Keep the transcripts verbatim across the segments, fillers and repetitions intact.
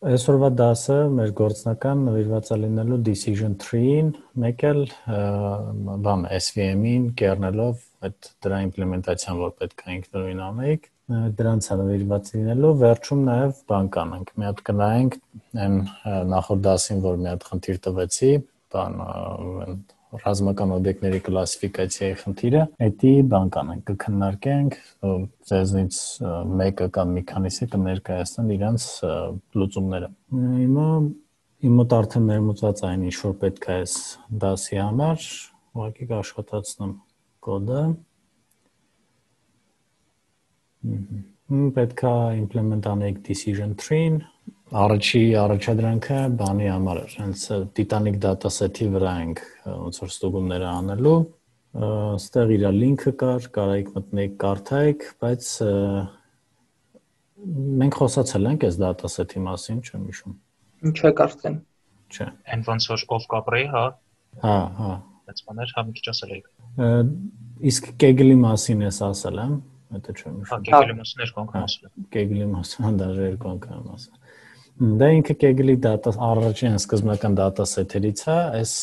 Այսօրվա դասը մեր գործնական նվիրված է լինելու decision tree-ին, մեկ էլ բան S V M-ին կերնելով այդ դրա իմպլեմենտացիան, որ պետք է ինքնուրույն անենք, դրանց է նվիրված լինելու, վերջում նաև բան կանենք, մի հատ կնայենք այն նախորդ դասին, որ մի հատ խնդիր տվեցի, բան ռազմական օբյեկտների կլասիֆիկացիայի խնդիրը, դա բան կանենք, կքննարկենք, ձեզնից մեկը կամ մի քանիսը կներկայացնեն իրենց լուծումները։ Հիմա իմ մոտ արդեն ներմուծված այն ինչ որ պետք է այս դասի համար, ուղղակի կաշխատացնեմ կոդը։ Պետք է implement անենք decision tree-ին, առաջի առաջադրանքը բանի համար էր, հենց Titanic dataset-ի վրա ենք ոնց որ ստուգումները անելու, ստեղ իր լինքը կար, կարայիք մտնեիք կարդայիք, բայց մենք խոսացել ենք այս dataset-ի մասին, չեմ հիշում։ Ինչ է կարծեմ։ Չէ։ Այն ոնց որ off կապրեի, հա։ Հա, հա։ Այս բաներ հա մի քիչ ասել եք։ Իսկ Kegel-ի մասին ես ասել եմ, դա չեմ հիշում։ Հա, Kegel-ի մասին երկու անգամ ասել եմ։ Kegel-ի մասին դաժե երկու անգամ ասել։ Դա ինքը Kegel-ի data առաջին սկզբնական dataset-երից է, այս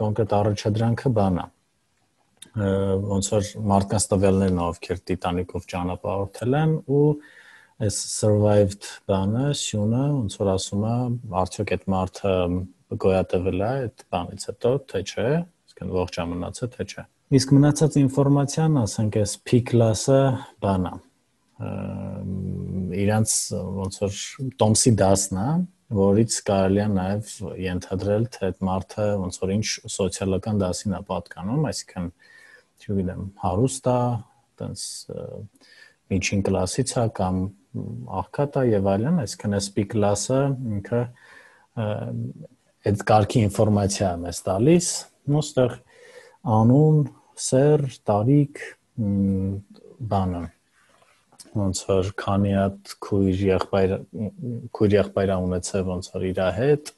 կոնկրետ առաջադրանքը բան է։ Ոնց որ մարդկանց տվյալներն ովքեր Titanic-ով ճանապարհորդել են ու այս survived բանը, սյունը, ոնց որ ասում է, արդյոք այդ մարդը գոյատևել է այդ բանից հետո, թե չէ, այսինքն ողջ է մնացել, թե չէ։ Իսկ մնացած ինֆորմացիան, ասենք այս P class-ը բան է։ Իրանց ոնց որ Տոմսի դասն է, որից կարելի է նաև ենթադրել, թե այդ մարդը ոնց որ ինչ սոցիալական դասին է պատկանում, այսինքն, չգիտեմ, հարուստ է, տենց միջին կլասից է կամ աղքատ է եւ այլն, այսինքն այս P class-ը ինքը այդ կարգի ինֆորմացիա է մեզ տալիս, ու ստեղ անուն, սեր, տարիք, բանը ոնց որ քանի հատ քույր եղբայր քույր եղբայր ունեցել ոնց որ իր հետ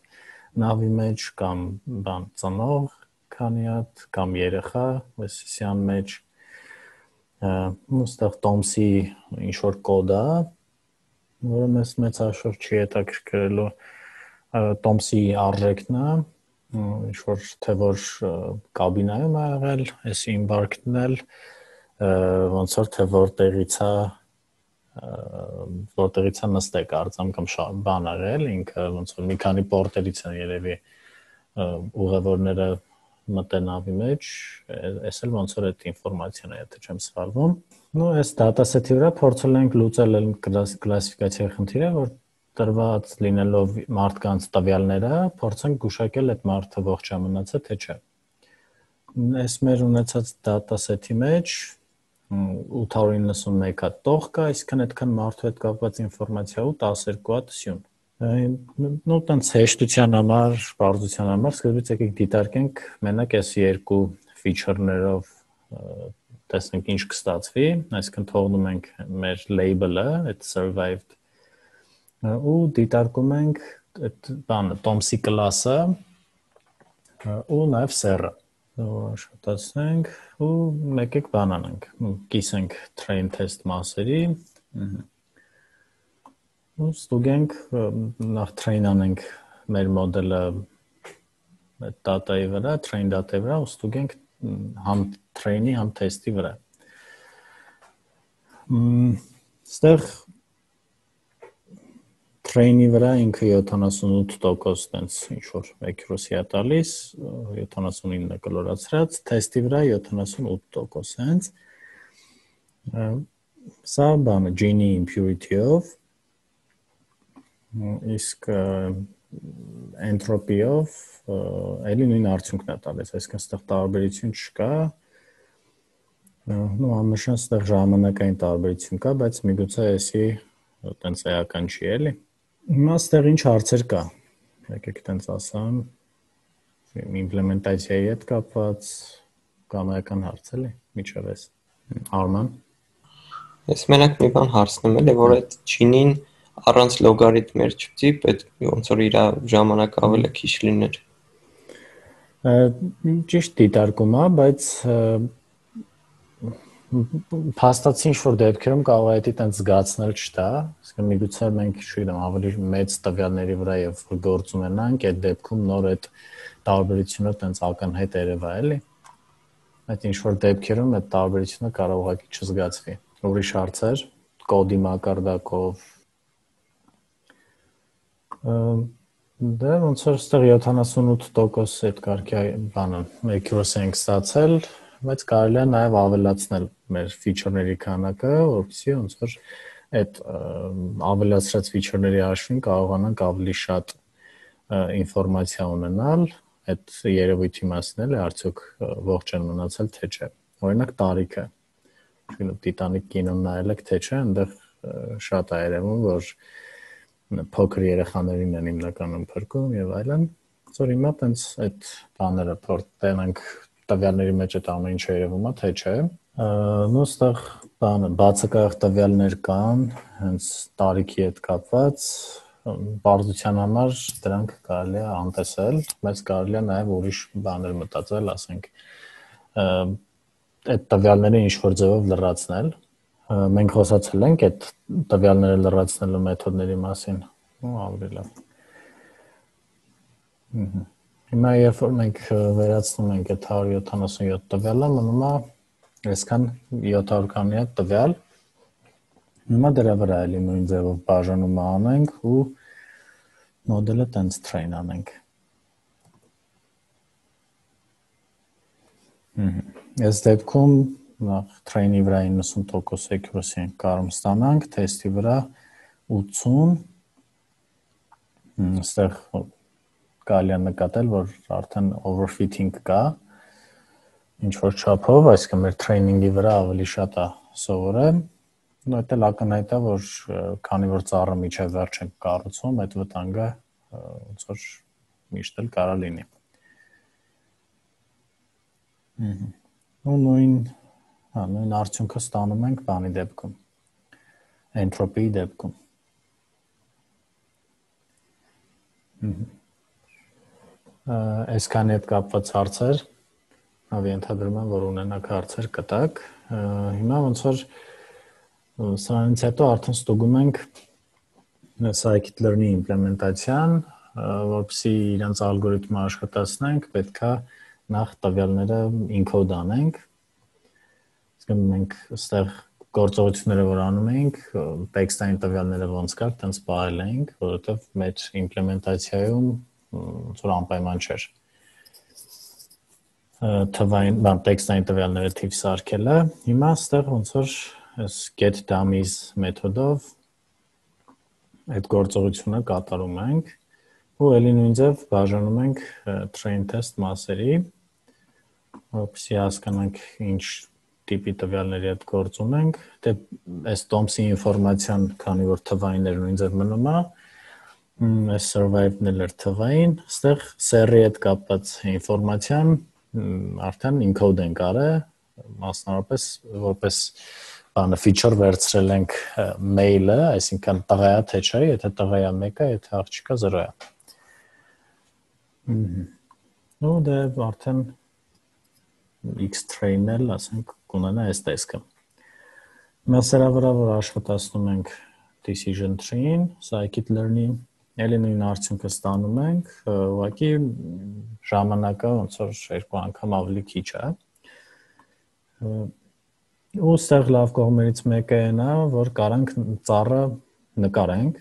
նավի մեջ կամ բան ծնող քանի հատ կամ երեխա այսիսյան մեջ ու ստեղ Տոմսի ինչ որ կոդ է որը մեզ մեծ հաշվով չի հետաքրքրելու Տոմսի արժեքն է ինչ որ թե որ կաբինայում է եղել այս embarked-ն էլ ոնց որ թե որտեղից է որտեղից է նստել կարծեմ կամ բան արել ինքը ոնց որ մի քանի պորտերից են երևի ուղևորները մտել նավի մեջ էս էլ ոնց որ այդ ինֆորմացիան է եթե չեմ սխալվում նո այս dataset-ի վրա փորձել ենք լուծել կլասիֆիկացիայի խնդիրը որ տրված լինելով մարդկանց տվյալները փորձենք գուշակել այդ մարդը ողջ է մնացել թե չէ այս մեր ունեցած dataset-ի մեջ ութ հարյուր իննսունմեկ հատ տող կա, այսինքն այդքան մարդու հետ կապված ինֆորմացիա ու տասներկու հատ սյուն։ Նո տենց հեշտության համար, պարզության համար սկզբից եկեք դիտարկենք մենակ այս երկու feature-ներով տեսնենք ինչ կստացվի, այսինքն թողնում ենք մեր label-ը, այդ survived ու դիտարկում ենք այդ բանը, Տոմսի class-ը ու նաև սերը աշխատացնենք ու մեկ-եք բան անենք, կիսենք train test մասերի ու ստուգենք, նախ train անենք մեր մոդելը այդ data-ի վրա, train data-ի վրա ու ստուգենք համ train-ի, համ test-ի վրա ստեղ train-ի վրա ինքը յոթանասունութ տոկոս տենց ինչ-որ accuracy է տալիս, յոթանասունինը կլորացրած, test-ի վրա յոթանասունութ տոկոս հենց, սա բանը Gini impurity-ով, իսկ entropy-ով էլի նույն արդյունքն է տալիս, այսինքն ստեղ տարբերություն չկա, նո աննշան ստեղ ժամանակային տարբերություն կա, բայց միգուցե էսի տենց էական չի էլի, հիմա ստեղ ինչ հարցեր կա, եկեք տենց ասամ, իմպլեմենտացիայի հետ կապված կամ էական հարց էլի, միջև ես, Արման։ Ես մենակ մի բան հարցնում եմ, որ այդ Gini-ն առանց լոգարիթմեր չպետք է պետք ոնց որ իր ժամանակ ավելի քիչ լիներ։ Ճիշտ դիտարկում է, բայց փաստացի ինչ-որ դեպքերում կարող է դա տենց զգացնել չտա, իսկ միգուցե մենք, չգիտեմ, ավելի մեծ տվյալների վրա եւ գործ ունենանք, այդ դեպքում նոր այդ տարբերությունը տենց ակնհայտ երևա, էլի։ Այդ ինչ-որ դեպքերում այդ տարբերությունը կարող ուղղակի չզգացվի։ Ուրիշ հարցեր, կոդի մակարդակով Դե ոնց որ ստեղ յոթանասունութ տոկոս այդ կարգի բանը accuracy ենք ստացել, բայց կարելի է նաև ավելացնել մեր feature-ների քանակը, որովհետեւ ոնց որ այդ ավելացրած feature-ների հաշվին կարողանանք ավելի շատ ինֆորմացիա ունենալ այդ երևույթի մասին, էլի արդյոք ողջ են մնացել թե չէ։ Օրինակ տարիքը։ Չգիտեմ, Titanic կինոն նայել եք թե չէ, այնտեղ շատ է երևում, որ փոքր երեխաներին են հիմնականում փրկում եւ այլն։ Որ հիմա տենց այդ բաները փորձենք տվյալների մեջ այդ ամեն ինչը երևում է թե չէ։ Նույն ստեղ բանը բացակայող տվյալներ կան, հենց տարիքի հետ կապված, բարձության համար դրանք կարելի է անտեսել, բայց կարելի է նաեւ ուրիշ բաներ մտածել, ասենք այդ տվյալները ինչ որ ձևով լրացնել։ Մենք խոսացել ենք այդ տվյալները լրացնելու մեթոդների մասին։ Ու ավելի լավ։ Հիմա երբ որ մենք վերացնում ենք այդ հարյուր յոթանասունյոթ տվյալը, մնում է այսքան յոթ հարյուր քանի հատ տվյալ։ Հիմա դրա վրա էլի նույն ձևով բաժանումը անենք ու մոդելը տենց train անենք։ Այս դեպքում նախ train-ի վրա իննսուն տոկոս accuracy ենք կարող ստանանք, test-ի վրա ութսուն, այստեղ կարելի է նկատել, որ արդեն overfitting կա, ինչ որ չափով, այսինքն մեր training-ի վրա ավելի շատ է սովորել, ու դա էլ ակնհայտ է, որ քանի որ ծառը միջև վերջ ենք կառուցում, այդ վտանգը ոնց որ միշտ էլ կարա լինի։ Ու նույն, հա, նույն արդյունքը ստանում ենք բանի դեպքում, entropy-ի դեպքում։ Այսքանի հետ կապված հարցեր, հավի ենթադրում եմ, որ ունենաք հարցեր կտակ, հիմա ոնց որ սրանից հետո արդեն ստուգում ենք scikit-learn-ի իմպլեմենտացիան, որպեսզի իրենց ալգորիթմը աշխատացնենք, պետք է նախ տվյալները encode անենք, իսկ մենք ստեղ գործողությունները որ անում ենք, տեքստային տվյալները ոնց կար, տենց պահել ենք, որովհետև մեր իմպլեմենտացիայում ոնց որ անպայման չէր։ Թվային, բան, տեքստային տվյալները թիվ սարքելը, հիմա ստեղ ոնց որ այս get dummies մեթոդով այդ գործողությունը կատարում ենք, ու էլի նույն ձև բաժանում ենք train test մասերի, որպեսզի հասկանանք ինչ տիպի տվյալների հետ գործ ունենք, դե այս տոմսի ինֆորմացիան, քանի որ թվային էր նույն ձև մնում է, այս survive-ն էլ էր թվային, ստեղ սեռի հետ կապված ինֆորմացիան արդեն encode ենք արել, մասնավորապես որպես բանը feature վերցրել ենք mail-ը, այսինքն տղայա թե չէ, եթե տղայա մեկը, եթե աղջիկա զրո է։ Ու դե արդեն X train-ել, ասենք, կունենա այս տեսքը։ Հիմա սրա վրա որ աշխատացնում ենք decision tree-ին, scikit-learn-ի, էլի նույն արդյունքը ստանում ենք, ուղղակի ժամանակը ոնց որ երկու անգամ ավելի քիչ է։ Ու ստեղ լավ կողմերից մեկը այն է, որ կարանք ծառը նկարենք։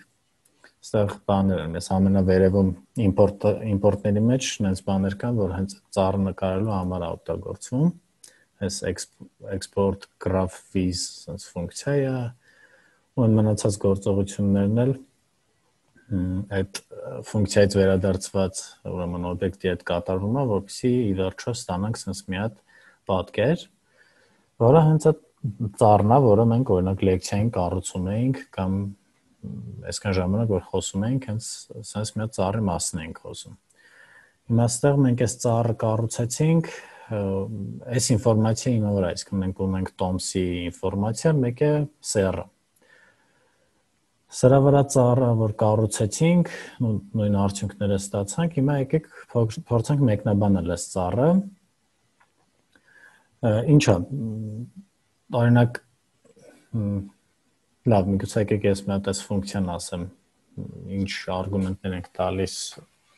Ստեղ բաներ են, այս ամենավերևում import import-ների մեջ այնպես բաներ կան, որ հենց ծառը նկարելու համար է օգտագործվում։ Այս export graph viz sense ֆունկցիա է, ու մնացած գործողություններն էլ այդ ֆունկցիայից վերադարձված ուրեմն օբյեկտի հետ կատարվում է, որպեսզի ի վերջո ստանանք sense մի հատ պատկեր, որը հենց այդ ծառն է, որը մենք օրինակ լեկցիային կառուցում էինք կամ այսքան ժամանակ որ խոսում էինք, հենց sense մի հատ ծառի մասին ենք խոսում։ Հիմա այստեղ մենք այս ծառը կառուցեցինք, այս ինֆորմացիա հիմա վրա, իսկ մենք ունենք տոմսի ինֆորմացիա, մեկ է սեռը։ Սրա վրա ծառը, որ կառուցեցինք, նույն արդյունքները ստացանք, հիմա եկեք փորձենք մեկնաբանել այս ծառը։ Ինչա, օրինակ լավ, միգուցե եկեք ես մի հատ այս ֆունկցիան ասեմ, ինչ արգումենտներ ենք տալիս,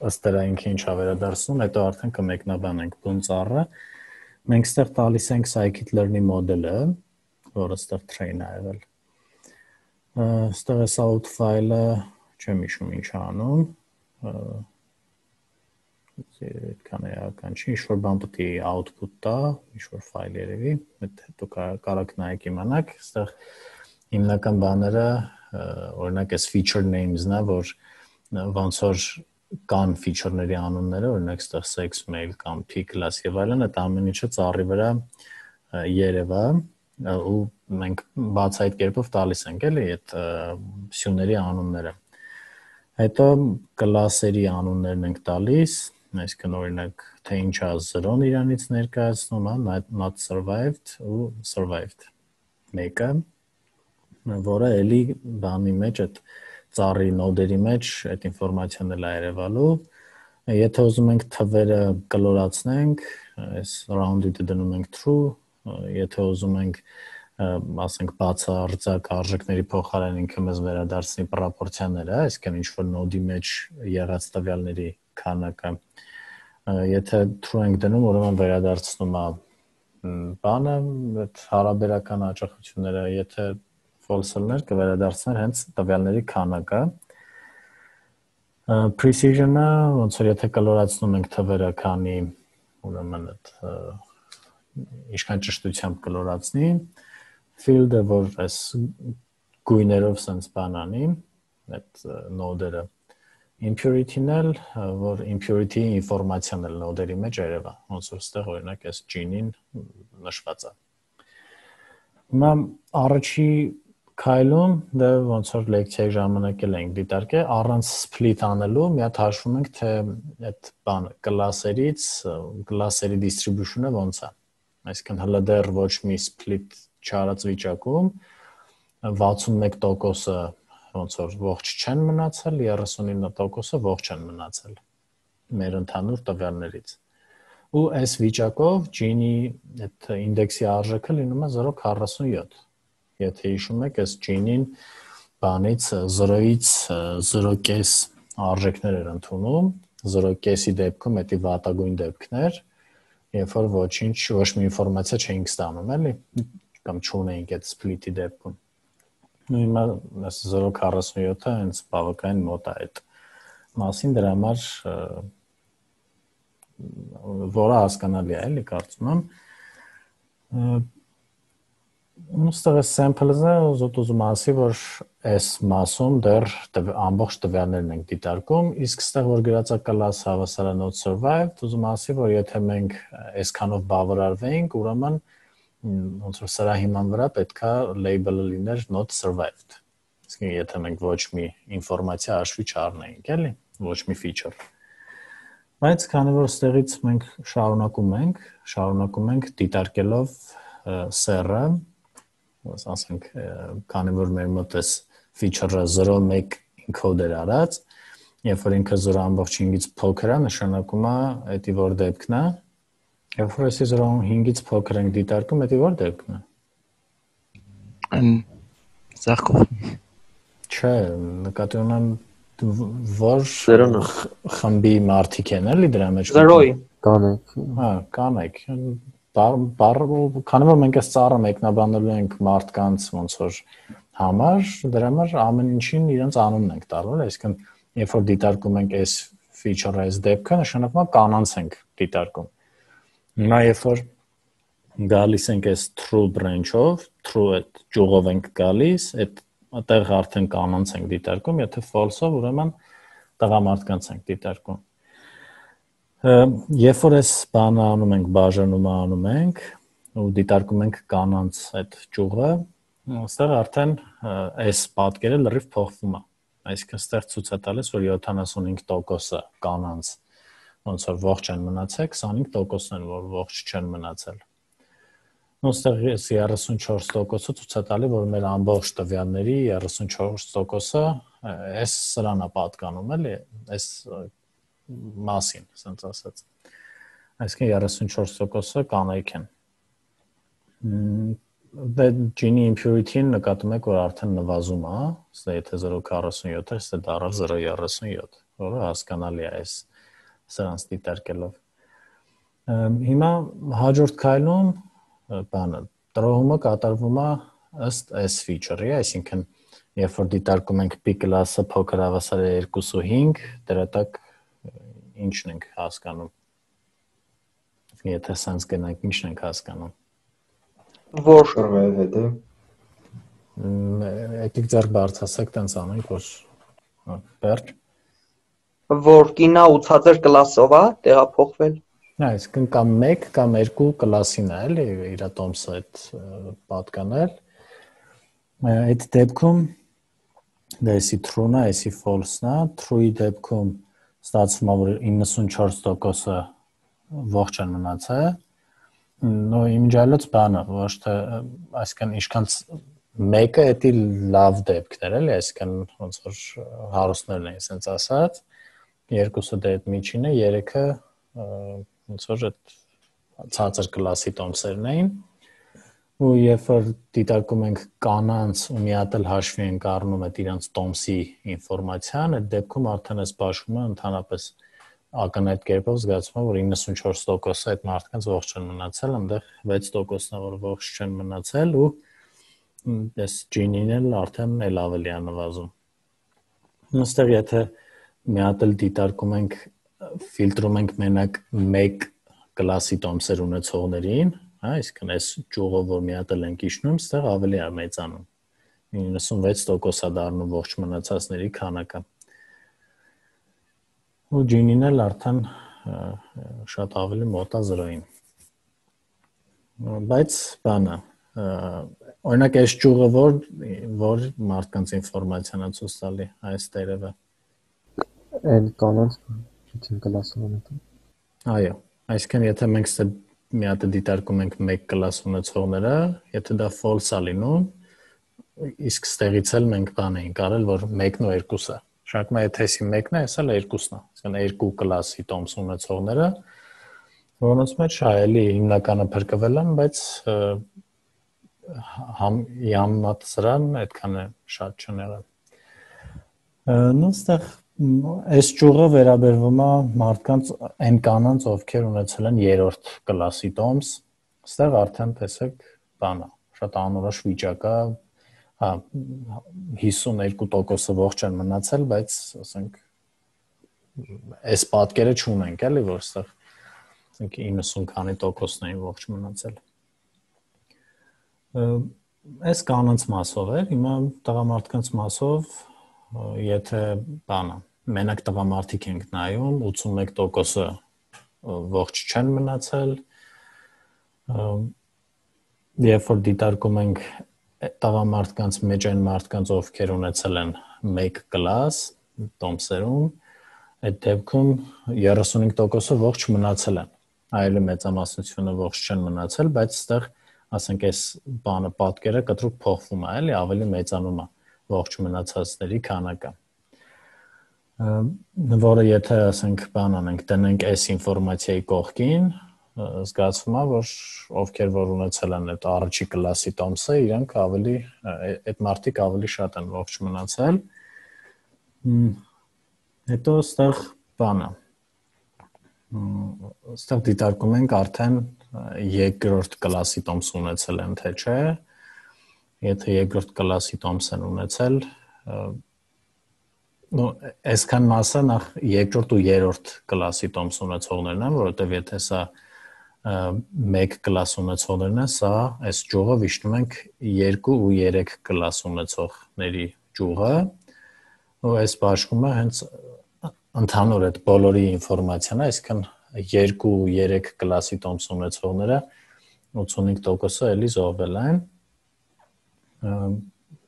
ըստ դրա ինքը ինչա վերադարձնում, հետո արդեն կմեկնաբանենք բուն ծառը։ Մենք ստեղ տալիս ենք scikit-learn-ի մոդելը, որը ստեղ train է եղել։ Ստեղ էս out file-ը չեմ հիշում ինչ է անում։ Այդքան էական չի, ինչ-որ բան պետք է output տա, ինչ-որ file երևի, հետո կարաք նայեք իմանաք, ստեղ հիմնական բաները, օրինակ այս feature names-ն է, որ ոնց որ կան feature-ների անունները, օրինակ ստեղ sex mail կամ p class եւ այլն, այդ ամեն ինչը ծառի վրա երևա ու մենք բաց այդ կերպով տալիս ենք էլի այդ սյուների անունները։ Հետո class-երի անուններն ենք տալիս, այսինքն օրինակ թե ինչա zero-ն իրանից ներկայացնում, հա, not survived ու survived մեկը, որը էլի բանի մեջ այդ ծառի նոդերի մեջ այդ ինֆորմացիան էլ է երևալու։ Եթե ուզում ենք թվերը կլորացնենք, այս rounded-ը դնում ենք true, եթե ուզում ենք ասենք բացարձակ արժեքների փոխարեն ինքը մեզ վերադարձնի պրոպորցիաները, այսինքն ինչ որ նոդի մեջ եղած տվյալների քանակը, եթե true ենք դնում, ուրեմն վերադարձնում է բանը, այդ հարաբերական հաճախությունները, եթե false-ներ կվերադարձներ հենց տվյալների քանակը։ Precision-ը, ոնց որ եթե կլորացնում ենք թվերը, քանի ուրեմն այդ ինչքան ճշտությամբ կլորացնի, field-ը, որ այս գույներով sense բան անի, այդ նոդերը, impurity-ն էլ, որ impurity-ի ինֆորմացիան էլ նոդերի մեջ երևա, ոնց որ ստեղ օրինակ այս gene-ին նշված է։ Հիմա առաջի քայլում դա ոնց որ լեկցիայի ժամանակ էլ ենք դիտարկել, առանց split անելու, մի հատ հաշվում ենք, թե այդ բանը class-երից, class-երի distribution-ը ոնց է։ Այսինքն հələ դեռ ոչ մի split չարած վիճակում վաթսունմեկ տոկոսը ոնց որ ողջ չեն մնացել, երեսունինը տոկոսը ողջ են մնացել մեր ընդհանուր տվյալներից։ Ու այս վիճակով gene-ի այդ ինդեքսի արժեքը լինում է zero point four seven։ Եթե հիշում եք, այս gene-ին բանից zero-ից zero point five արժեքներ էր ընդունում, zero point five-ի դեպքում դա վատագույն դեպքն էր, երբ որ ոչինչ, ոչ մի ինֆորմացիա չէինք ստանում, էլի, կամ չունեինք այդ split-ի դեպքում։ Ու հիմա այս zero point four seven-ը հենց բավականին մոտ է այդ մասին, դրա համար որը հասկանալի է, էլի, կարծում եմ։ Ուստեղ այս sample-ը ուզոտ ուզում ասի, որ այս մասում դեռ ամբողջ տվյալներն ենք դիտարկում, իսկ ստեղ որ գրած է class հավասար է not survived, ուզում ասի, որ եթե մենք այսքանով բավարարվեինք, ուրեմն ոնց որ սրա հիման վրա պետքա label-ը լիներ not survived։ Իսկ եթե մենք ոչ մի ինֆորմացիա հաշվի չառնեինք, էլի, ոչ մի feature։ Բայց քանի որ ստեղից մենք շարունակում ենք, շարունակում ենք դիտարկելով սեռը, ասենք, քանի որ մեր մոտ էս feature-ը zero point one encode էր արած, երբ որ ինքը zero point five-ից փոքր է, նշանակում է դա որ դեպքն է, երբ որ էսի zero point five-ից փոքր ենք դիտարկում, դա որ դեպքն է։ Այն սաղ կողմ։ Չէ, նկատի ունեմ որ խմբի մարդիկ են էլի դրա մեջ zero-ի կանեք։ Հա, կանեք։ Քանի որ մենք այս ծառը մեկնաբանելու ենք մարդկանց ոնց որ համար, դրա համար ամեն ինչին իրենց անունն ենք տալու, այսինքն երբ որ դիտարկում ենք այս feature-ը, այս դեպքը, նշանակում է կանանց ենք դիտարկում։ Հիմա երբ որ գալիս ենք այս true branch-ով, true այդ ճյուղով ենք գալիս, այդ այդտեղ արդեն կանանց ենք դիտարկում, եթե false-ով, ուրեմն տղամարդկանց ենք դիտարկում։ Երբ որ այս բանը անում ենք, բաժանումը անում ենք ու դիտարկում ենք կանանց այդ ճյուղը, այստեղ արդեն այս պատկերը լրիվ փոխվում է։ Այսինքն այստեղ ցույց է տալիս, որ յոթանասունհինգ տոկոսը կանանց ոնց որ ողջ են մնացել, քսանհինգ տոկոսն են, որ ողջ չեն մնացել։ Այստեղ երեսունչորս տոկոսը ցույց է տալի, որ մեր ամբողջ տվյալների երեսունչորս տոկոսը այս սրան է պատկանում, էլի, այս մասին, ասենց ասած։ Այսինքն երեսունչորս տոկոսը կանայք են։ Դե Gini impurity-ն նկատում եք, որ արդեն նվազում է, ասես եթե zero virgule քառասունյոթ է, ստե դառավ zero virgule երեսունյոթ, որը հասկանալի է այս սրանց դիտարկելով։ Հիմա հաջորդ քայլում բանը տրոհումը կատարվում է ըստ այս feature-ի, այսինքն երբ որ դիտարկում ենք p class-ը փոքր հավասար է two point five, դրա տակ ինչն ենք հասկանում։ Եթե sense գնանք, ինչն ենք հասկանում։ Որ շրվել հետ է։ Եկեք ձեռք բարձրացեք, տենց անենք, որ բերջ։ Որ կինա ուցածեր կլասով է տեղափոխվել։ Այսինքն կամ one կամ two կլասին է, էլի իր տոմսը այդ պատկանել։ Այդ դեպքում դա էսի true-ն է, էսի false-ն է, true-ի դեպքում ստացվում է, որ ninety-four տոկոսը ողջ են մնացել։ Նո իմջալոց բանը, ոչ թե այսինքն ինչքան մեկը էդի լավ դեպքներ էլի, այսինքն ոնց որ հարուստներն են, ասենց ասած, երկուսը դե այդ միջինը, երեքը ոնց որ այդ ցածր կլասի տոմսերն էին, ու երբ որ դիտարկում ենք կանանց ու մի հատ էլ հաշվի ենք առնում այդ իրանց տոմսի ինֆորմացիան, այդ դեպքում արդեն այս բաշխումը ընդհանրապես ակնհայտ կերպով զգացվում է, որ ninety-four տոկոսը այդ մարդկանց ողջ են մնացել, այնտեղ six տոկոսն է, որ ողջ չեն մնացել ու այս Gini-ն էլ արդեն էլ ավելի է նվազում։ Այստեղ եթե մի հատ էլ դիտարկում ենք, ֆիլտրում ենք մենակ one կլասի տոմսեր ունեցողներին, հա, այսինքն այս ճյուղով որ մի հատ էլ ենք իջնում, այստեղ ավելի է մեծանում։ ninety-six տոկոս է դառնում ողջ մնացածների քանակը։ Ու Gini-ն էլ արդեն շատ ավելի մոտ է zero-ին։ Բայց բանը, օրինակ այս ճյուղը որ որ մարդկանց ինֆորմացիան է ցույց տալի, այս տերևը։ Այն կանանց չեն կլասով ունեցել։ Այո, այսինքն եթե մենք ստե մի հատ դիտարկում ենք one կլաս ունեցողները, եթե դա false է լինում, իսկ ստեղից էլ մենք բան ենք արել, որ one-ն ու two-ը Շարքմա եթե էսի one-ն է, էսա էլ two-ն է, այսինքն two կլասի տոմս ունեցողները, որոնց մեջ այլի հիմնականը փրկվել են, բայց համ յամնատ սրան այդքան է շատ չեն եղել։ Նո ստեղ այս ճյուղը վերաբերվում է մարդկանց այն կանանց, ովքեր ունեցել են երրորդ կլասի տոմս, ստեղ արդեն տեսեք բան է, շատ անորոշ վիճակ է, հա fifty-two տոկոսը ողջ են մնացել, բայց ասենք այս պատկերը չունենք, էլի որ ստեղ ասենք ninety քանի տոկոսն էին ողջ մնացել։ Այս կանանց մասով է, հիմա տղամարդկանց մասով, եթե բանը, մենակ տղամարդիկ ենք նայում, eighty-one տոկոսը ողջ չեն մնացել, երբ որ դիտարկում ենք տղամարդկանց մեջ այն մարդկանց, ովքեր ունեցել են one կլաս տոմսերում, այդ դեպքում thirty-five տոկոսը ողջ մնացել են։ Այլ մեծամասնությունը ողջ չեն մնացել, բայց այստեղ ասենք այս բանը պատկերը կտրուկ փոխվում է, էլի ավելի մեծանում է ողջ մնացածների քանակը։ Որը եթե ասենք բան անենք, տնենք այս ինֆորմացիայի կողքին, զգացվում է, որ ովքեր որ ունեցել են այդ առաջի կլասի տոմսը, իրանք ավելի այդ մարդիկ ավելի շատ են ողջ մնացել։ Հետո այստեղ բանը Այստեղ դիտարկում ենք արդեն երկրորդ կլասի տոմս ունեցել են, թե չէ։ Եթե երկրորդ կլասի տոմս են ունեցել, նո այսքան մասը նախ երկրորդ ու երրորդ կլասի տոմս ունեցողներն են, որովհետև եթե սա one կլաս ունեցողներն են, սա այս ճյուղը վիշտում ենք two ու three կլաս ունեցողների ճյուղը, ու այս բաշխումը հենց ընդհանուր այդ բոլորի ինֆորմացիան է, այսինքն two ու three կլասի տոմս ունեցողները eighty-five տոկոսը էլի զոհվել են։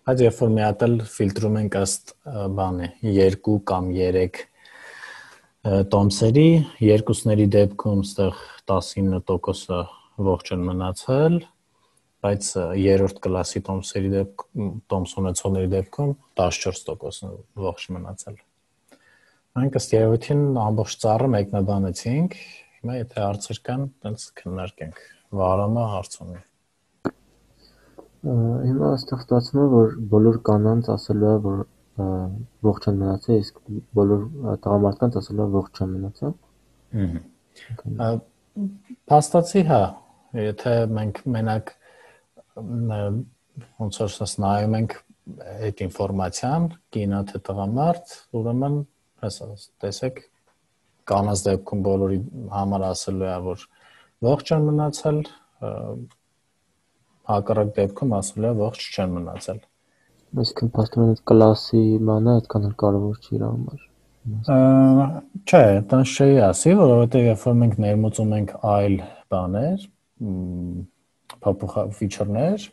Բայց երբ որ մի հատ էլ ֆիլտրում ենք ըստ բանի two կամ three տոմսերի, երկուսների դեպքում այստեղ nineteen տոկոսը ողջ են մնացել, բայց երրորդ կլասի տոմսերի դեպքում տոմս ունեցողների դեպքում fourteen տոկոսն ողջ մնացել։ Մենք ըստ երևույթին ամբողջ ծառը մեկնաբանեցինք, հիմա եթե հարցեր կան, տենց քննարկենք։ Վարամը հարց ունի։ Հիմա այստեղ ստացվում է, որ բոլոր կանանց ասելու է, որ ողջ են մնացել, իսկ բոլոր տղամարդկանց ասելու է ողջ չեն մնացել։ Ահա։ Փաստացի հա, եթե մենք մենակ ոնց որ ասած նայում ենք այդ ինֆորմացիան, կինա թե տղամարդ, ուրեմն ասած տեսեք կանանց դեպքում բոլորի համար ասելու է, որ ողջ են մնացել, հակառակ դեպքում ասելու է ողջ չեն մնացել։ Այսինքն փաստորեն այդ կլասի մանա այդքան էլ կարևոր չի իր համար։ Չէ, դա չի ասի, որովհետև երբ որ մենք ներմուծում ենք այլ բաներ, փոփոխ ֆիչերներ,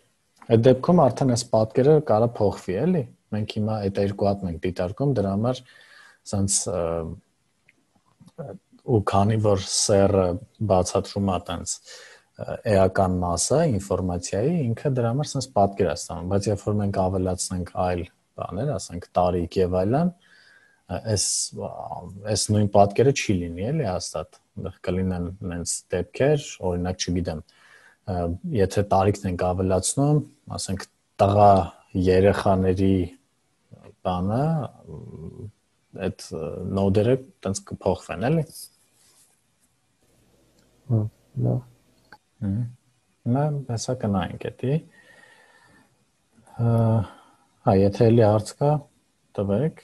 այդ դեպքում արդեն այս պատկերը կարա փոխվի, էլի։ Մենք հիմա այդ երկու հատ ենք դիտարկում, դրա համար ասենց ու քանի որ սերը բացատրում է տենց էական մասը ինֆորմացիայի, ինքը դրա համար sense պատկեր է ստանում, բայց երբ որ մենք ավելացնենք այլ բաներ, ասենք տարիք եւ այլն, այս այս նույն պատկերը չի լինի, էլի հաստատ։ Այնտեղ կլինեն նենց դեպքեր, օրինակ չգիտեմ, եթե տարիքն ենք ավելացնում, ասենք տղա երեխաների բանը, այդ նոդերը տենց կփոխվեն, էլի։ Հա, լավ։ Նա հեսա կնայենք էդի։ Հա, եթե էլի հարց կա, տվեք։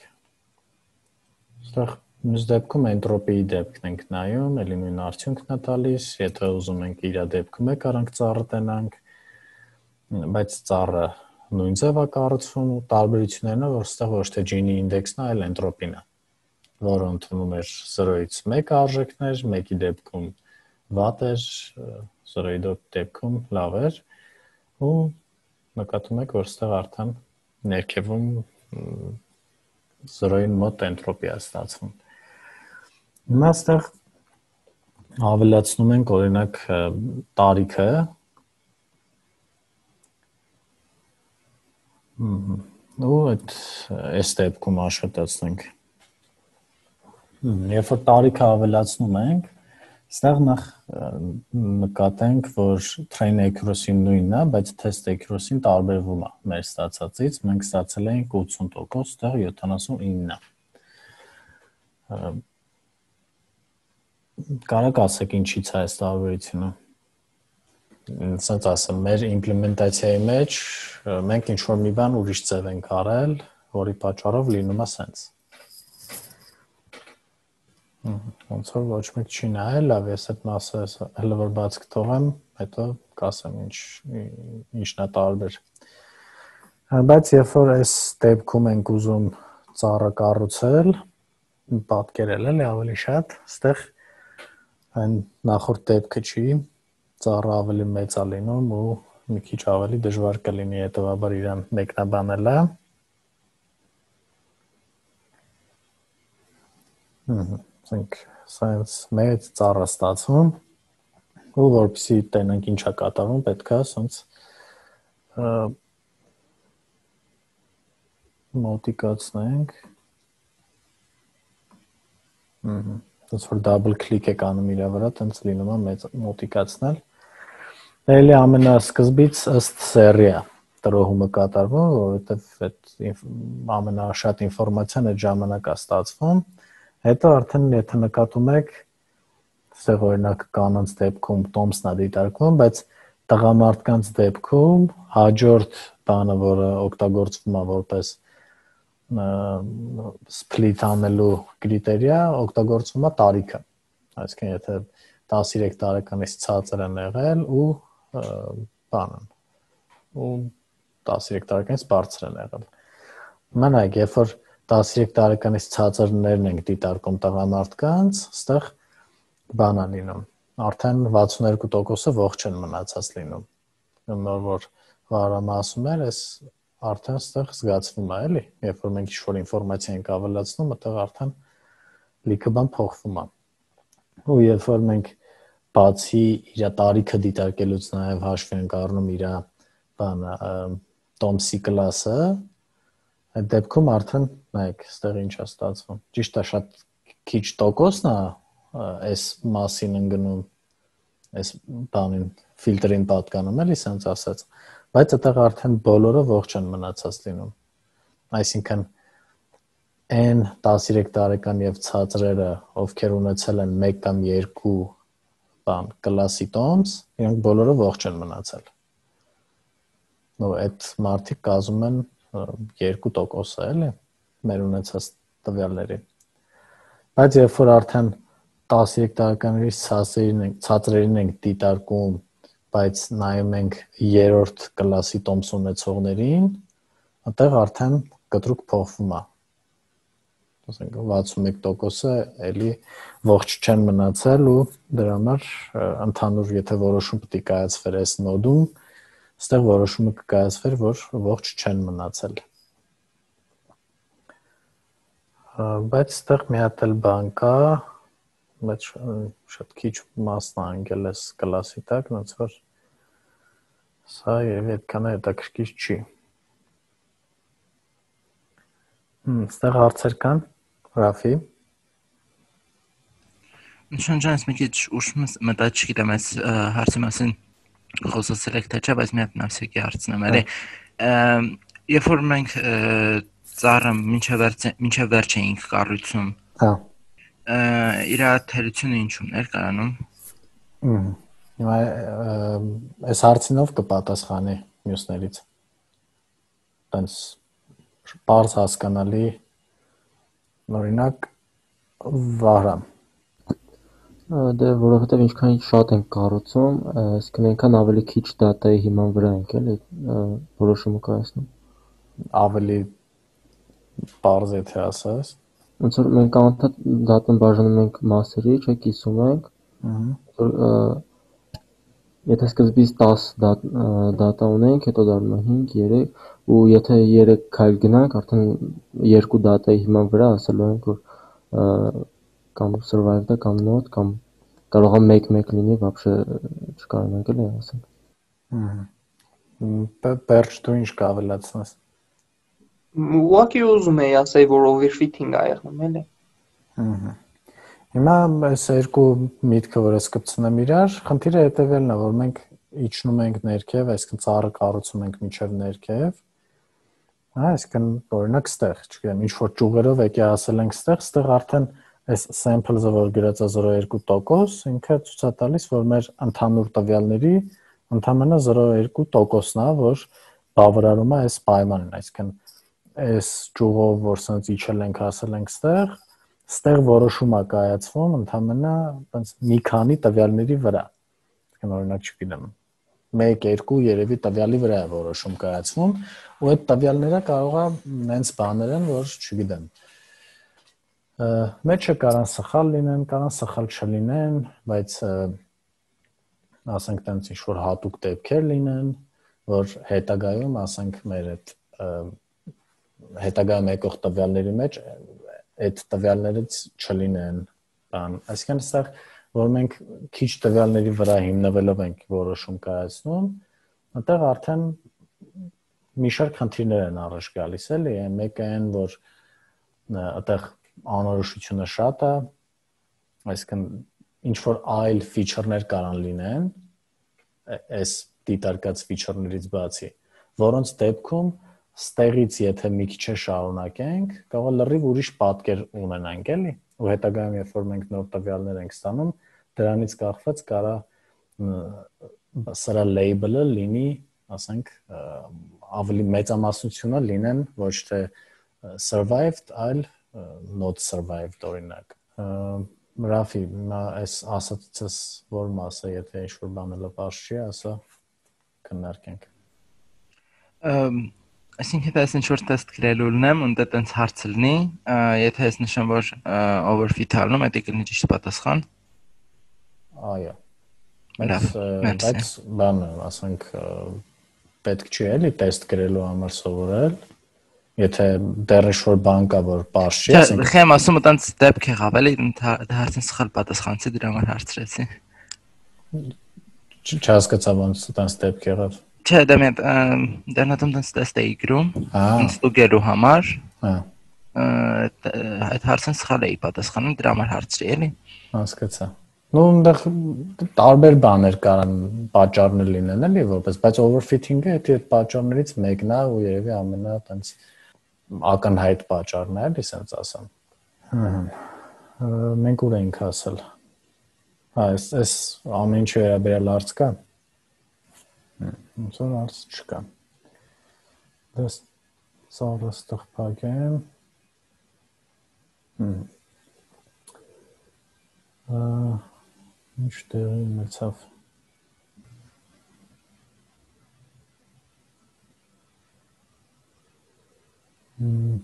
Այստեղ մյուս դեպքում էնտրոպիի դեպքն ենք նայում, էլի նույն արդյունքն է տալիս, եթե ուզում ենք իր դեպքում է կարանք ծառը տնանք, բայց ծառը նույն ձև է կառուցվում ու տարբերություններն է, որ այստեղ ոչ թե Gini ինդեքսն է, այլ էնտրոպին է, որը ընդունում էր զրոյից մեկ արժեքներ, մեկի դեպքում վատ էր, զրոյի դեպքում լավ էր ու նկատում եք, որ այստեղ արդեն ներքևում զրոյին մոտ էնտրոպի է ստացվում։ Հիմա այստեղ ավելացնում ենք օրինակ տարիքը, ու այդ այս դեպքում աշխատացնենք։ Երբ որ տարիքը ավելացնում ենք, այստեղ նախ նկատենք, որ train accuracy-ն նույնն է, բայց test accuracy-ն տարբերվում է մեր ստացածից, մենք ստացել ենք ութսուն տոկոս, այստեղ յոթանասունինն է։ Կարաք ասեք ինչի՞ց է այս տարբերությունը։ Ասած ասեմ, մեր իմպլեմենտացիայի մեջ մենք ինչ-որ մի բան ուրիշ ձև ենք արել, որի պատճառով լինում է սենց։ Ոնց որ ոչ մեկ չի նայել, լավ, ես այդ մասը հələ որ բաց կթողեմ, հետո կասեմ ինչն է տարբեր։ Բայց երբ որ այս դեպքում ենք ուզում ծառը կառուցել, պատկերել էլի ավելի շատ, այստեղ այն նախորդ դեպքը չի, ծառը ավելի մեծ է լինում ու մի քիչ ավելի դժվար կլինի հետևաբար իրան մեկնաբանելը։ Ասենք սայնս մեծ ծառը ստացվում ու որպեսզի տենանք ինչ է կատարվում, պետք է ասենց մոտիկացնենք։ Ոնց որ double click եք անում իր վրա, տենց լինում է մեծ մոտիկացնել։ Էլի ամենասկզբից ըստ սերի է տրոհումը կատարվում, որովհետև այդ ամենաշատ ինֆորմացիան այդ ժամանակ է ստացվում։ Հետո արդեն եթե նկատում եք, այստեղ օրինակ կանանց դեպքում տոմսն է դիտարկվում, բայց տղամարդկանց դեպքում հաջորդ բանը, որը օգտագործվում է որպես split անելու կրիտերիա, օգտագործվում է տարիքը։ Այսինքն եթե տասնյոթ տարեկանից ցածր են եղել ու բանը ու տասնյոթ տարեկանից բարձր են եղել։ Մենակ երբ որ տասնյոթ տարեկանից ցածրներն ենք դիտարկում տղամարդկանց, այստեղ բան է լինում։ Արդեն վաթսունութ տոկոսը ողջ են մնացած լինում։ Նոր որ Վարամը ասում էր, այս արդեն այստեղ զգացվում է, էլի, երբ որ մենք ինչ-որ ինֆորմացիա ենք ավելացնում, այդտեղ արդեն լիքը բան փոխվում է։ Ու երբ որ մենք բացի իր տարիքը դիտարկելուց նաև հաշվի ենք առնում իր բանը տոմսի կլասը, այդ դեպքում արդեն նայեք, այստեղ ինչ է ստացվում։ Ճիշտ է, շատ քիչ տոկոսն է այս մասին ընկնում, այս բանին ֆիլտրին պատկանում էլի, սենց ասած, բայց այդտեղ արդեն բոլորը ողջ են մնացած լինում։ Այսինքն այն տասներեք տարեկան եւ ցածրերը, ովքեր ունեցել են մեկ կամ երկու բան կլասի տոմս, իրենք բոլորը ողջ են մնացել։ Նո այդ մարդիկ կազմում են երկու տոկոս է, էլի, մեր ունեցած տվյալների։ Բայց երբ որ արդեն տասներեք տարեկաններից ցածրերին ենք, ցածրերին ենք դիտարկում, բայց նայում ենք երրորդ կլասի տոմս ունեցողներին, այդտեղ արդեն կտրուկ փոխվում է։ Ասենք վաթսունմեկ տոկոսը էլի ողջ չեն մնացել ու դրա համար ընդհանուր եթե որոշում պետք է կայացվեր այս նոդում, այստեղ որոշումը կկայացվեր, որ ողջ չեն մնացել։ Բայց այստեղ մի հատ էլ բան կա, բայց շատ քիչ մասն անգել էս կլասի տակ, ոնց որ սա երևի այդքան հետաքրքիր չի։ Հմ, այստեղ հարցեր կան, Ռաֆի։ Նշան ջան, ես մի քիչ ուշ մտա չգիտեմ այս հարցի մասին խոսացել եք թե չէ, բայց մի հատ նավսեկի հարցնեմ, էլի։ Երբ որ մենք ծառը մինչև վերջ էինք կառույցում, հա, իր թերությունը ինչու՞մն էր կարանում։ Հիմա այս հարցինով կպատասխանի մյուսներից։ Տենց պարզ հասկանալի, օրինակ Վահրամ։ Դե որովհետև ինչքան շատ ենք կառուցում, այսինքն այնքան ավելի քիչ դատայի հիման վրա ենք էլի որոշումը կայացնում։ Ավելի պարզ եթե ասես։ Ոնց որ մենք անդադ դատան բաժանում ենք մասերի, չէ, կիսում ենք։ Որ եթե սկզբից դաս դատա ունենք, հետո դառնում է հինգ, երեք, ու եթե երեք քայլ գնանք, արդեն երկու դատայի հիման վրա ասելու ենք, որ կամ survive-ը կամ not, կամ կարող է մեկ-մեկ լինի, вообще չկարողանանք էլի ասենք։ Պերճ դու ինչ կավելացնես։ Ուղղակի ուզում էի ասել, որ overfitting ա եղնում, էլի։ Հիմա այս երկու միտքը, որ ես կպցնեմ իրար, խնդիրը հետևելն է, որ մենք իջնում ենք ներքև, այսինքն ծառը կառուցում ենք մինչև ներքև։ Այսինքն օրինակ ստեղ, չգիտեմ, ինչ որ ճյուղերով եկի ասել ենք ստեղ, ստեղ արդեն այս sample-ը, որ գրած է զրո երկու տոկոս, ինքը ցույց է տալիս, որ մեր ընդհանուր տվյալների ընդամենը զրո երկու տոկոսն է, որ բավարարում է այս պայմանին, այսինքն այս ճյուղով, որ սենց իջել ենք, ասել ենք ստեղ, ստեղ որոշում է կայացվում ընդամենը այնպես մի քանի տվյալների վրա։ Այսինքն օրինակ չգիտեմ, մեկ, երկու երևի տվյալի վրա է որոշում կայացվում, ու այդ տվյալները կարող է նենց բաներ են, որ չգիտեմ, մեջը կարան սխալ լինեն, կարան սխալ չլինեն, բայց ասենք տենց ինչ-որ հատուկ դեպքեր լինեն, որ հետագայում, ասենք մեր այդ հետագայում եկող տվյալների մեջ այդ տվյալներից չլինեն բան, այսինքն այստեղ, որ մենք քիչ տվյալների վրա հիմնվելով ենք որոշում կայացնում, այդտեղ արդեն մի շարք խնդիրներ են առաջ գալիս, էլի, մեկը այն, որ այդտեղ անորոշությունը շատ է, այսինքն ինչ որ այլ feature-ներ կարան լինեն, այս դիտարկած feature-ներից բացի, որոնց դեպքում ստեղից եթե մի քիչ շարունակենք, կարող է լրիվ ուրիշ պատկեր ունենանք, էլի, ու հետագայում երբ որ մենք նոր տվյալներ ենք ստանում, դրանից կախված կարա սրա label-ը լինի, ասենք, ավելի մեծամասնությունը լինեն ոչ թե survived, այլ not survived օրինակ։ Ռաֆի, այս ասացից որ մասը, եթե ինչ-որ բանը լպաշ չի, ասա քննարկենք։ Այսինքն եթե ես ինչ-որ տեստ գրելու լինեմ, ու դա տենց հարց լինի, եթե ես նշեմ, որ overfit ալնում, դա կլինի ճիշտ պատասխան։ Այո։ Բայց բանը, ասենք, պետք չի էլի տեստ գրելու համար սովորել, եթե դեռ ինչ-որ բան կա, որ պարզ չի, ասենք։ Խեմ ասում եմ, տենց դեպք եղավ, էլի, հարցին սխալ պատասխանեցի, դրա համար հարցրեցի։ Չհասկացա ոնց տենց դեպք եղավ։ Չէ, դա մի դեռնատում տենց տեստ էի գրում, ստուգելու համար։ Այդ հարցին սխալ էի պատասխանում, դրա համար հարցրի, էլի։ Հասկացա։ Ну, այնտեղ տարբեր բաներ կարան պատճառներ լինեն, էլի որպես, բայց overfitting-ը դա այդ պատճառներից մեկն է ու երևի ամենա տենց ակնհայտ պատճառն է, էլի ասենց ասեմ։ Հա։ Մենք ուր ենք ասել։ Հա, էս էս ամեն ինչ վերաբերյալ արծ կա։ Ոնց որ արծ չկա։ Դες սարը ստեղ փակեմ։ Հմ։ Ինչ տեղի ունեցավ։ Հմ։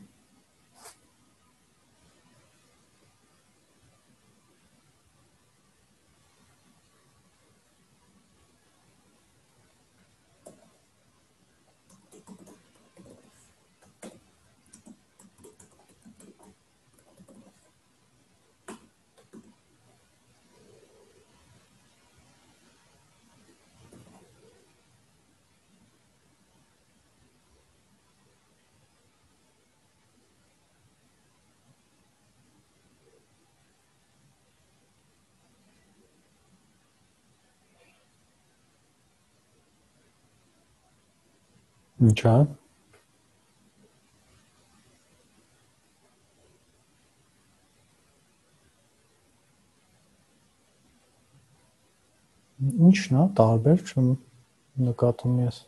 Ինչ է։ Ինչն է, տարբեր չեմ նկատում ես։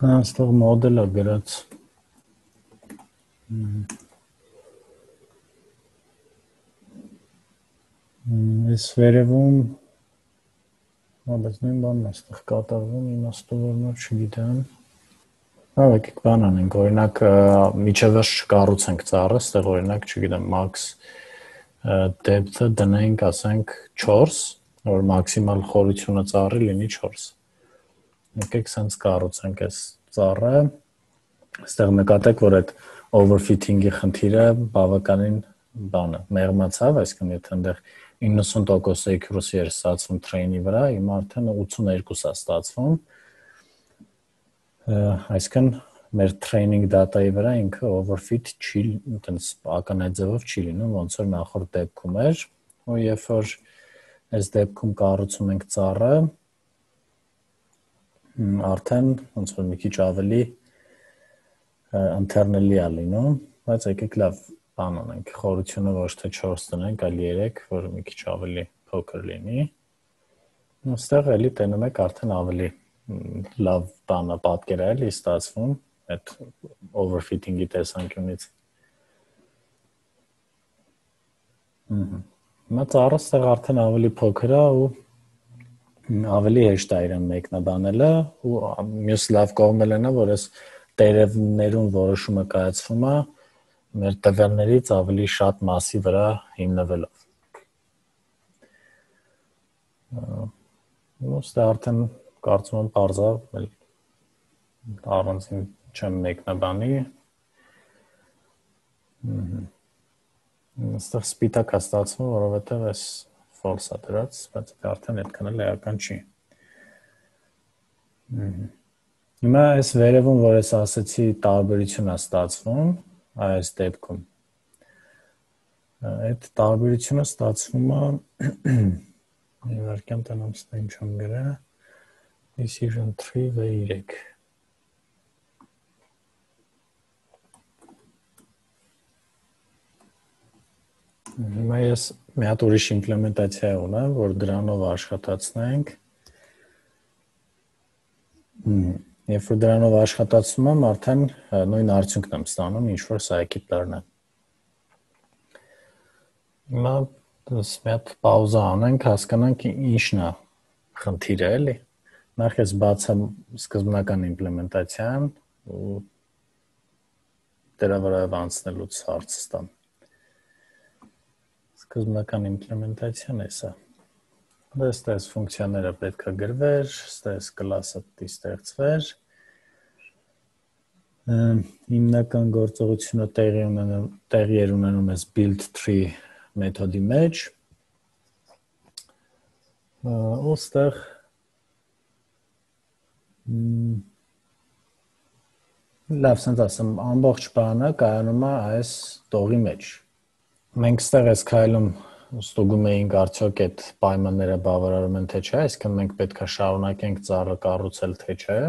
Այստեղ մոդելը գրած։ Այս վերևում բայց նույն բանն է այստեղ կատարվում, իմաստավորներ չգիտեմ։ Հա, եկեք բան անենք, օրինակ միջևերջ չկառուցենք ծառը, այստեղ օրինակ, չգիտեմ, max depth-ը դնենք, ասենք չորս, որ մաքսիմալ խորությունը ծառի լինի չորս։ Եկեք սենց կառուցենք այս ծառը, այստեղ նկատեք, որ այդ overfitting-ի խնդիրը բավականին բանը մեղմացավ, այսինքն եթե այնտեղ իննսուն տոկոս accuracy էր ստացվում train-ի վրա, հիմա արդեն ութսունհերկու է ստացվում, այսինքն մեր training data-ի վրա ինքը overfit չի, այտենց ակնհայտ ձևով չի լինում, ոնց որ նախորդ դեպքում էր, ու երբ որ այս դեպքում կառուցում ենք ծառը, արդեն ոնց որ մի քիչ ավելի ընթերնելի է լինում, բայց եկեք լավ բան անենք, խորությունը ոչ թե չորս տնենք, այլ երեք, որ մի քիչ ավելի փոքր լինի։ Այստեղ էլի տենում եք արդեն ավելի լավ բանը պատկեր է էլի ստացվում այդ overfitting-ի տեսանկյունից։ Հիմա ծառը այստեղ արդեն ավելի փոքր է ու ավելի հեշտ է իրեն մեկնաբանելը ու մյուս լավ կողմն է, որ այս տերևներում որոշումը կայացվում է մեր տվյալներից ավելի շատ մասի վրա հիմնվելով։ Ոստե արդեն կարծում եմ պարզ է, առանցին չեմ մեկնաբանի։ Այստեղ սպիտակ է ստացվում, որովհետև այս false է դրած, բայց արդեն այդքան էլ էական չի։ Հիմա այս վերևում, որ ես ասեցի տարբերություն է ստացվում, այս դեպքում, այդ տարբերությունը ստացվում է, իվարկյան տնամ ստա ինչ եմ գրա, decision tree վե երեք։ Հիմա ես մի հատ ուրիշ իմպլեմենտացիա ունեմ, որ դրանով աշխատացնենք։ Երբ որ դրանով աշխատացնում եմ, արդեն նույն արդյունքն եմ ստանում, ինչ որ scikit-lerն է։ Հիմա դες մի հատ պաուզա անենք, հասկանանք ինչն է խնդիրը, էլի։ Նախ ես բացեմ սկզբնական իմպլեմենտացիան ու դրա վրա անցնելուց հարց ստամ։ Սկզբնական իմպլեմենտացիան է սա։ Դες ֆունկցիաները պետք է գրվեր, դες կլասը պետք է ստեղծվեր։ Հիմնական գործողությունը տեղի ունենում տեղի էր ունենում էս build tree մեթոդի մեջ։ Ու ստեղ լավ, ասենց ասեմ, ամբողջ բանը կայանում է այս տողի մեջ։ Մենք ստեղ այս քայլում ստուգում էինք արդյոք այդ պայմանները բավարարում են թե չէ, այսինքն մենք պետք է շարունակենք ծառը կառուցել թե չէ։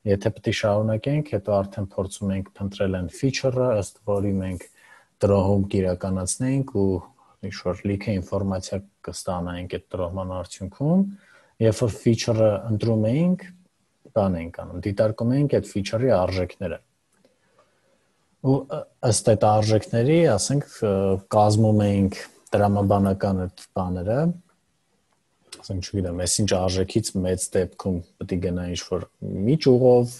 Եթե պետք է շարունակենք, հետո արդեն փորձում ենք փնտրել այն feature-ը, ըստ որի մենք տրոհում կիրականացնենք ու ինչ-որ լիքը ինֆորմացիա կստանայինք այդ տրոհման արդյունքում, երբ որ feature-ը ընտրում էինք, բան էինք անում, դիտարկում էինք այդ feature-ի արժեքները։ Ու ըստ այդ արժեքների, ասենք, կազմում էինք տրամաբանական այդ բաները, ասենք, չգիտեմ, այս ինչ արժեքից մեծ դեպքում պետք է գնա ինչ-որ մի ճյուղով,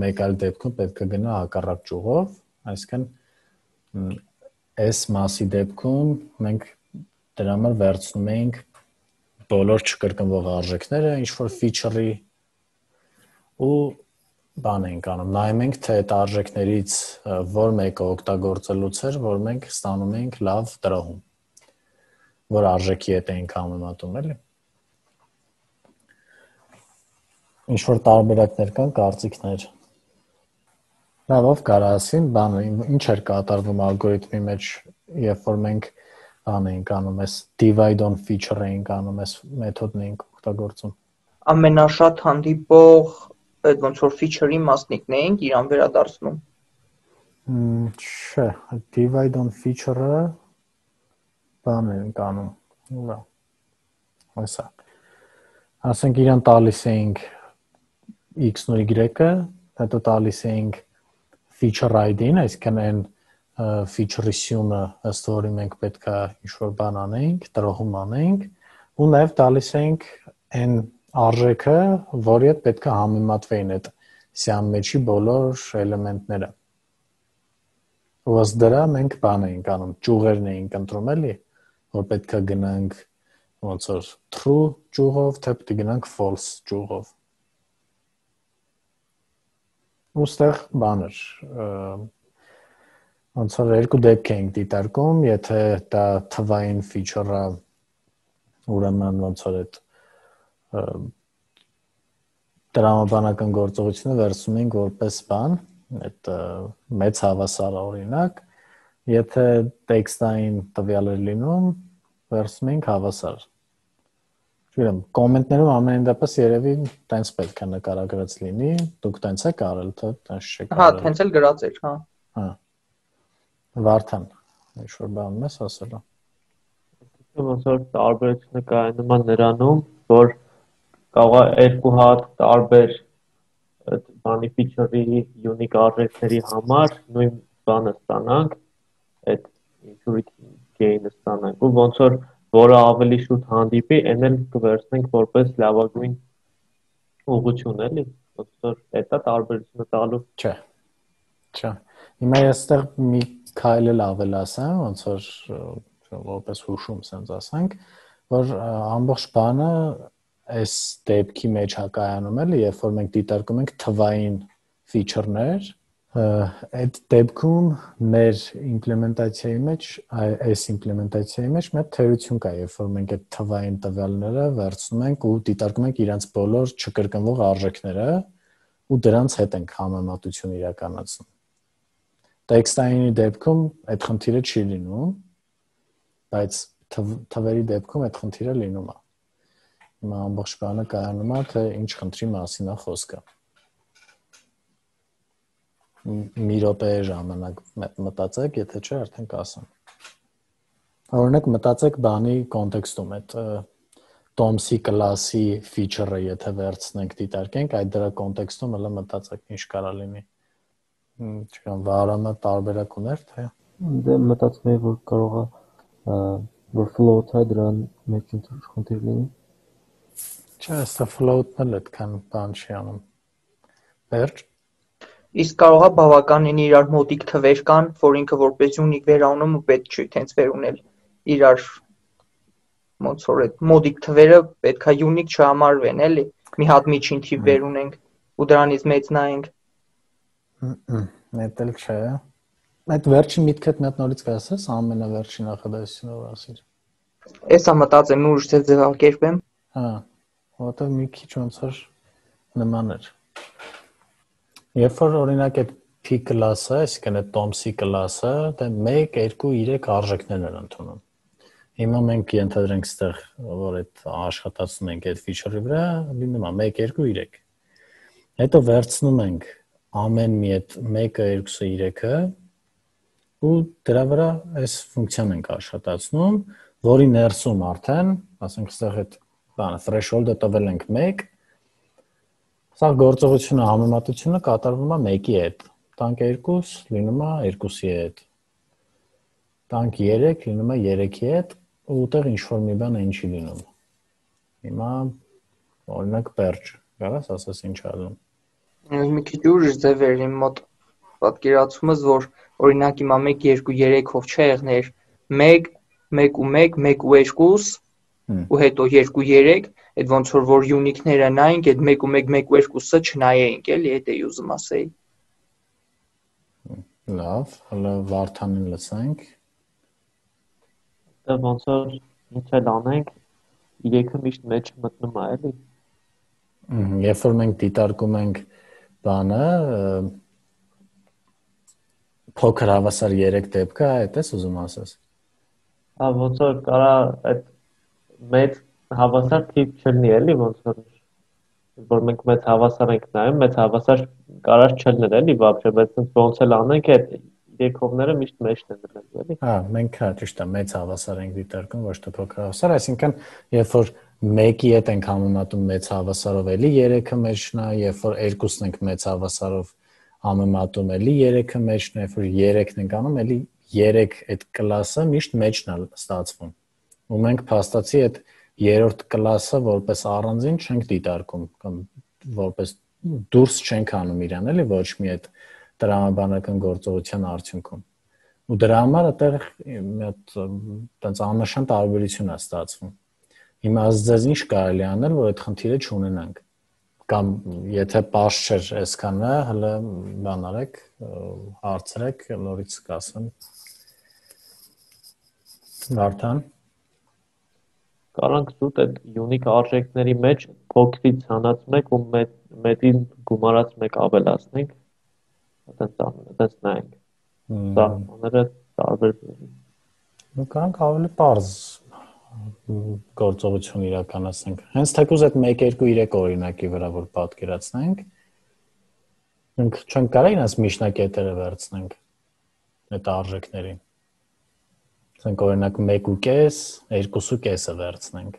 մեկ այլ դեպքում պետք է գնա հակառակ ճյուղով, այսինքն այս մասի դեպքում մենք դրա համար վերցնում էինք բոլոր չկրկնվող արժեքները ինչ-որ feature-ի ու բան ենք անում, նայում ենք, թե այդ արժեքներից որ մեկը օգտագործելուց էր, որ մենք ստանում ենք լավ տրոհում, որ արժեքի հետ ենք համեմատում, էլի։ Ինչ-որ տարբերակներ կան, կարծիքներ։ Լավ, ով կարա ասին, բանը, ինչ էր կատարվում ալգորիթմի մեջ, երբ որ մենք բան էինք անում, այս divide on feature էինք անում, այս մեթոդն էինք օգտագործում։ Ամենաշատ հանդիպող այդ ոնց որ feature-ի մասնիկն էինք իրան վերադարձնում։ Չէ, divide on feature-ը բան ենք անում։ Ուրա։ Այսա։ Ասենք իրան տալիս էինք x-ն ու y-ը, հետո տալիս էինք feature I D-ն, այսինքն այն feature-ի սյունը, ըստ որի մենք պետք է ինչ-որ բան անենք, տրոհում անենք, ու նաև տալիս էինք այն արժեքը, որի հետ պետք է համեմատվեին այդ սյան մեջի բոլոր էլեմենտները։ Ու ըստ դրա մենք բան էինք անում, ճյուղերն էինք ընտրում, էլի, որ պետք է գնանք ոնց որ true ճյուղով, թե պետք է գնանք false ճյուղով։ Ու ստեղ բան էր, ոնց որ երկու դեպք էինք դիտարկում, եթե դա թվային feature-ը, ուրեմն ոնց որ այդ տրամաբանական գործողությունը վերցնում ենք որպես բան, այդ մեծ հավասար օրինակ, եթե տեքստային տվյալ էր լինում, վերցնում ենք հավասար։ Չգիտեմ, կոմենտներում ամենայն դեպս երևի տենց պետք է նկարագրած լինի, դուք տենց եք արել, թե տենց չեք արել։ Հա, տենց էլ գրած էր, հա։ Հա։ Վարդան, ինչ-որ բան ես ասել։ Ոնց որ տարբերությունը կայանում է նրանում, որ կարող է երկու հատ տարբեր բանի feature-ի unique արժեքների համար նույն բանը ստանանք, այդ security gain-ը ստանանք, ու ոնց որ որը ավելի շուտ հանդիպի, այն էլ կվերցնենք որպես լավագույն ուղղություն, էլի, ոնց որ դա տարբերությունը տալու։ Չէ։ Չէ։ Հիմա ես այստեղ մի քայլ էլ ավելացեմ, ոնց որ որպես հուշում sense ասենք, որ ամբողջ բանը այս դեպքի մեջ հակայանում էլի, երբ որ մենք դիտարկում ենք թվային feature-ներ, այդ դեպքում մեր իմպլեմենտացիայի մեջ, այս իմպլեմենտացիայի մեջ մի թերություն կա, երբ որ մենք այդ թվային տվյալները վերցնում ենք ու դիտարկում ենք իրենց բոլոր չկրկնվող արժեքները ու դրանց հետ ենք համեմատություն իրականացնում։ Տեքստայինի դեպքում այդ խնդիրը չի լինում, բայց թվերի դեպքում այդ խնդիրը լինում է։ Հիմա ամբողջ բանը կայանում է, թե ինչ խնդրի մասին է խոսքը։ Մի րոպե ժամանակ մտածեք, եթե չէ, արդեն կասեմ։ Օրինակ մտածեք բանի կոնտեքստում, այդ Tom-ի կլասի feature-ը եթե վերցնենք, դիտարկենք, այդ դրա կոնտեքստում հələ մտածեք ինչ կարա լինի։ Չգիտեմ, վարանը տարբերակ ուներ, թե։ Դե մտածում եմ, որ կարող է որ float-ը դրան մեջ խնդիր լինի։ Չէ, սա float-ն էլ այդքան բան չի անում։ Վերջ։ Իսկ կարող է բավականին իրար մոտիկ թվեր կան, որ ինքը որպես unique վերանում ու պետք չի տենց վերունել իրար ոնց որ այդ մոտիկ թվերը պետքա unique չհամարվեն, էլի։ Մի հատ միջին թիվ վերունենք ու դրանից մեծ նայենք։ Այդ էլ չէ։ Այդ վերջին միտքդ մի հատ նորից կասես, ամենավերջին նախադասությունը որ ասիր։ Էսա մտածեմ ուրիշ ձև ձևակերպեմ։ Հա, որտեղ մի քիչ ոնց որ նման էր։ Երբ որ օրինակ այդ P class-ը, այսինքն այդ Tom's class-ը, դա մեկ, երկու, երեք արժեքներ են ընդունում։ Հիմա մենք ենթադրենք այստեղ, որ այդ աշխատացնում ենք այդ feature-ի վրա, լինում է մեկ, երկու, երեք։ Հետո վերցնում ենք ամեն մի այդ մեկը, երկուսը, երեքը ու դրա վրա այս ֆունկցիան ենք աշխատացնում, որի ներսում արդեն, ասենք այստեղ այդ բանը threshold-ը տվել ենք մեկ, սա գործողությունը համեմատությունը կատարվում է մեկի հետ, տանք երկու լինում է երկուսի հետ, տանք երեք լինում է երեքի հետ ու ուտեղ ինչ-որ մի բան է ինչի լինում։ Հիմա օրինակ պերճ, կարաս ասես ինչ ալում։ Մի քիչ ուրիշ ձև էր իմ մոտ պատկերացումս, որ օրինակ հիմա մեկ, երկու, երեքով չէ եղներ մեկ, մեկ ու մեկ, մեկ ու երկուս ու հետո երկու, երեք, այդ ոնց որ որ unique-ները նայենք, այդ մեկ ու մեկ, մեկ ու երկուսը չնայեինք, էլի, դա է ուզում ասեի։ Լավ, հələ Վարդանին լսենք։ Դա ոնց որ ինչ էլ անենք, երեքը միշտ մեջ մտնում է, էլի։ Երբ որ մենք դիտարկում ենք բանը, փոքր հավասար երեք դեպքը, այդ էս ուզում ասես։ Հա, ոնց որ կարա այդ մեծ հավասար թիվ չլինի, էլի, ոնց որ որ մենք մեծ հավասար ենք նայում, մեծ հավասար կարար չլներ, էլի, բաբշե, բայց ոնց էլ անենք, այդ երեքովները միշտ մեջն են դրել, էլի։ Հա, մենք հա ճիշտ է, մեծ հավասար ենք դիտարկում, ոչ թե փոքր հավասար, այսինքն, երբ որ մեկի հետ ենք համեմատում մեծ հավասարով, էլի երեքը մեջն է, երբ որ երկուսն ենք մեծ հավասարով համեմատում, էլի երեքը մեջն է, երբ որ երեքն ենք անում, էլի երեք այդ կլասը միշտ մեջն է ստացվում։ Ու մենք փաստացի այդ երրորդ կլասը որպես առանձին չենք դիտարկում կամ որպես դուրս չենք անում իրան, էլի ոչ մի այդ տրամաբանական գործողության արդյունքում։ Ու դրա համար այդտեղ մի հատ տենց աննշան տարբերություն է ստացվում։ Հիմա ձեզ ինչ կարելի անել, որ այդ խնդիրը չունենանք։ Կամ եթե պարզ չէր այսքանը, հələ բան արեք, հարցրեք, նորից կասեմ։ Վարդան Կարանք զուտ այդ unique արժեքների մեջ փոքրից հանած մեկ ու մեծին գումարած մեկ ավելացնենք, այդպես այդպես նայենք։ Սա բաները տարբեր բերենք։ Ու կարանք ավելի պարզ գործողություն իրականացնենք։ Հենց թեկուզ այդ մեկ, երկու, երեք օրինակի վրա որ պատկերացնենք, մենք չենք կարող ինձ միջնակետերը վերցնենք այդ արժեքներին։ Ասենք օրինակ մեկ ու կես, երկու ու կեսը վերցնենք։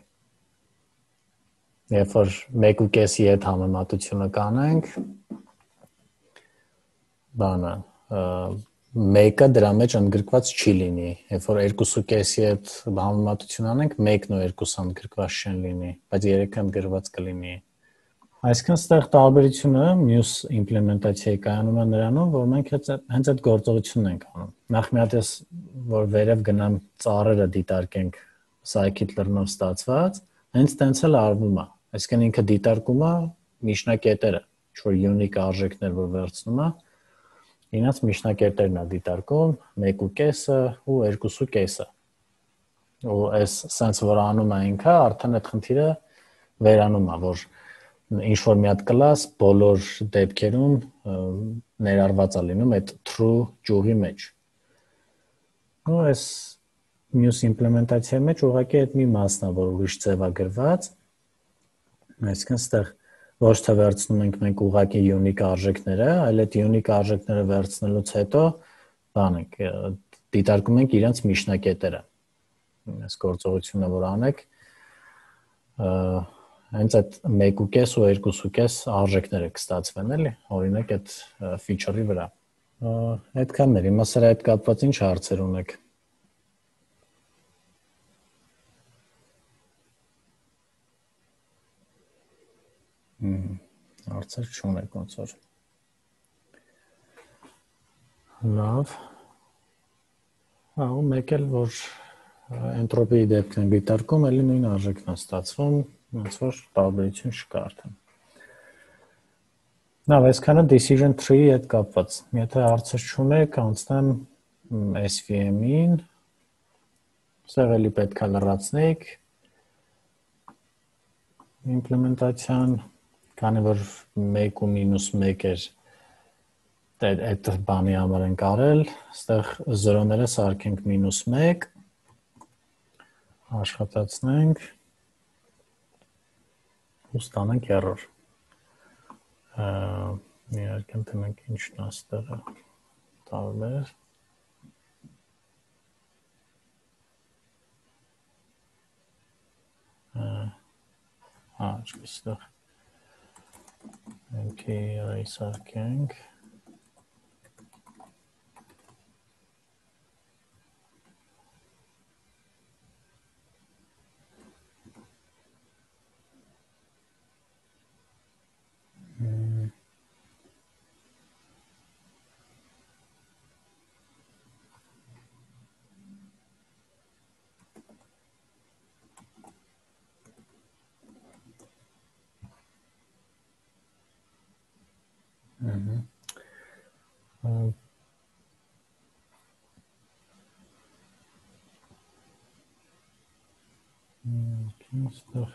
Երբ որ մեկ ու կեսի հետ համեմատությունը կանենք, բանը, մեկը դրա մեջ ընդգրկված չի լինի, երբ որ երկու ու կեսի հետ համեմատություն անենք, մեկն ու երկուսը ընդգրկված չեն լինի, բայց երեքը ընդգրկված կլինի։ Այսինքն ստեղ տարբերությունը մյուս իմպլեմենտացիայի կայանում է նրանում, որ մենք հենց այդ գործողությունն ենք անում։ Նախ մի հատ ես որ վերև գնամ ծառերը դիտարկենք scikit-learn-ով ստացված, հենց տենց էլ արվում է։ Այսինքն ինքը դիտարկում է միջնակետերը, ինչ-որ unique արժեքներ որ վերցնում է, ինձ միջնակետերն է դիտարկում, մեկ ու կեսը ու երկու ու կեսը։ Ու այս sense որ անում է ինքը, արդեն այդ խնդիրը վերանում է, որ ինչ-որ մի հատ կլաս բոլոր դեպքերում ներառված է լինում այդ true ճյուղի մեջ։ Ու այս մյուս իմպլեմենտացիայի մեջ ուղղակի այդ մի մասն է, որ ուրիշ ձև է գրված, այսինքն ստեղ ոչ թե վերցնում ենք մենք ուղղակի unique արժեքները, այլ այդ unique արժեքները վերցնելուց հետո բան ենք դիտարկում ենք իրենց միջնակետերը։ Այս գործողությունը որ անեք, հենց այդ մեկ ու կես ու երկու ու կես արժեքները կստացվեն, էլի, օրինակ այդ feature-ի վրա։ Այդքաններ, հիմա սրա հետ կապված ինչ հարցեր ունեք։ Հարցեր չունեք ոնց որ։ Լավ։ Հա, ու մեկ էլ որ էնտրոպիի դեպքն դիտարկում, էլի նույն արժեքն է ստացվում, ոնց որ տարբերություն չկա արդեն։ Լավ, այսքանը decision tree-ի հետ կապված։ Եթե հարցեր չունեք, անցնեմ S V M-ին։ Սա էլի պետք է լրացնենք implementation, քանի որ մեկ ու մինուս մեկ էր այդ բանի համար ենք արել, այստեղ զրոները սարքենք մինուս մեկ, աշխատացնենք ու ստանանք error։ Իհարկե ընտրենք ինչն է այստեղը տարբեր։ Հա, այստեղ Empty array սարքենք։ Stuff.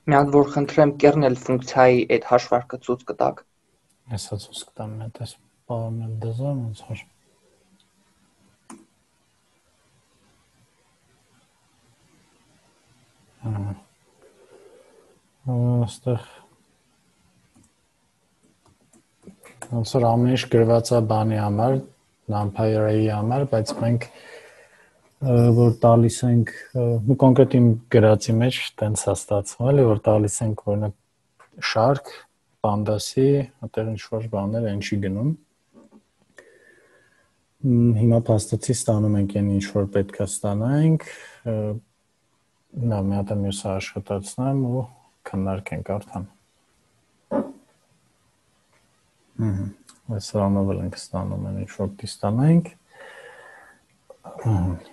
Մի հատ որ խնդրեմ կերնել ֆունկցիայի այդ հաշվարկը ցույց կտակ։ Հեսա ցույց կտամ մի հատ այս բառն դեզան ոնց որ։ Այստեղ ոնց որ ամեն ինչ գրված է բանի համար, numpy array-ի համար, բայց մենք որ տալիս ենք ու կոնկրետ իմ գրածի մեջ տենց է ստացվում, էլի որ տալիս ենք օրինակ շարք, pandas-ի, այդտեղ ինչ-որ բաներ են չի գնում։ Հիմա փաստացի ստանում ենք այն ինչ որ պետք է ստանանք, նա մի հատ մյուսը աշխատացնեմ ու քննարկենք արդեն։ Այս ռանով ենք ստանում են ինչ որ ստանանք։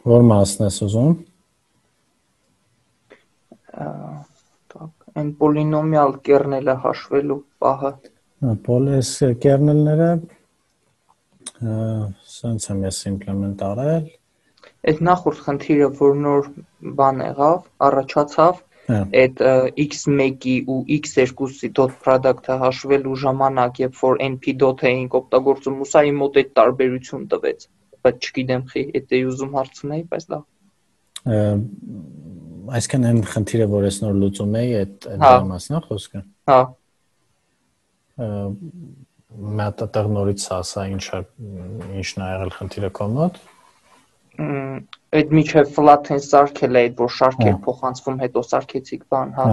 Որ մասն ես ուզում։ Այն պոլինոմիալ կերնելը հաշվելու պահը։ Պոլես կերնելները սենց եմ ես իմպլեմենտ արել։ Այդ նախորդ խնդիրը, որ նոր բան եղավ, առաջացավ, այդ x մեկի ու x երկուսի dot product-ը հաշվելու ժամանակ, երբ որ np dot էինք օգտագործում, ու սա իմ մոտ այդ տարբերություն տվեց, բայց չգիտեմ խի, այդ էի ուզում հարցնեի, բայց լավ։ Այսքան այն խնդիրը, որ ես նոր լուծում էի, այդ այդ մասն է խոսքը։ Հա։ Մի հատ այդտեղ նորից ասա ինչա ինչն է եղել խնդիրը քո մոտ։ Այդ միջև flatten սարքել է այդ որ շարքեր փոխանցվում, հետո սարքեցիք բան, հա։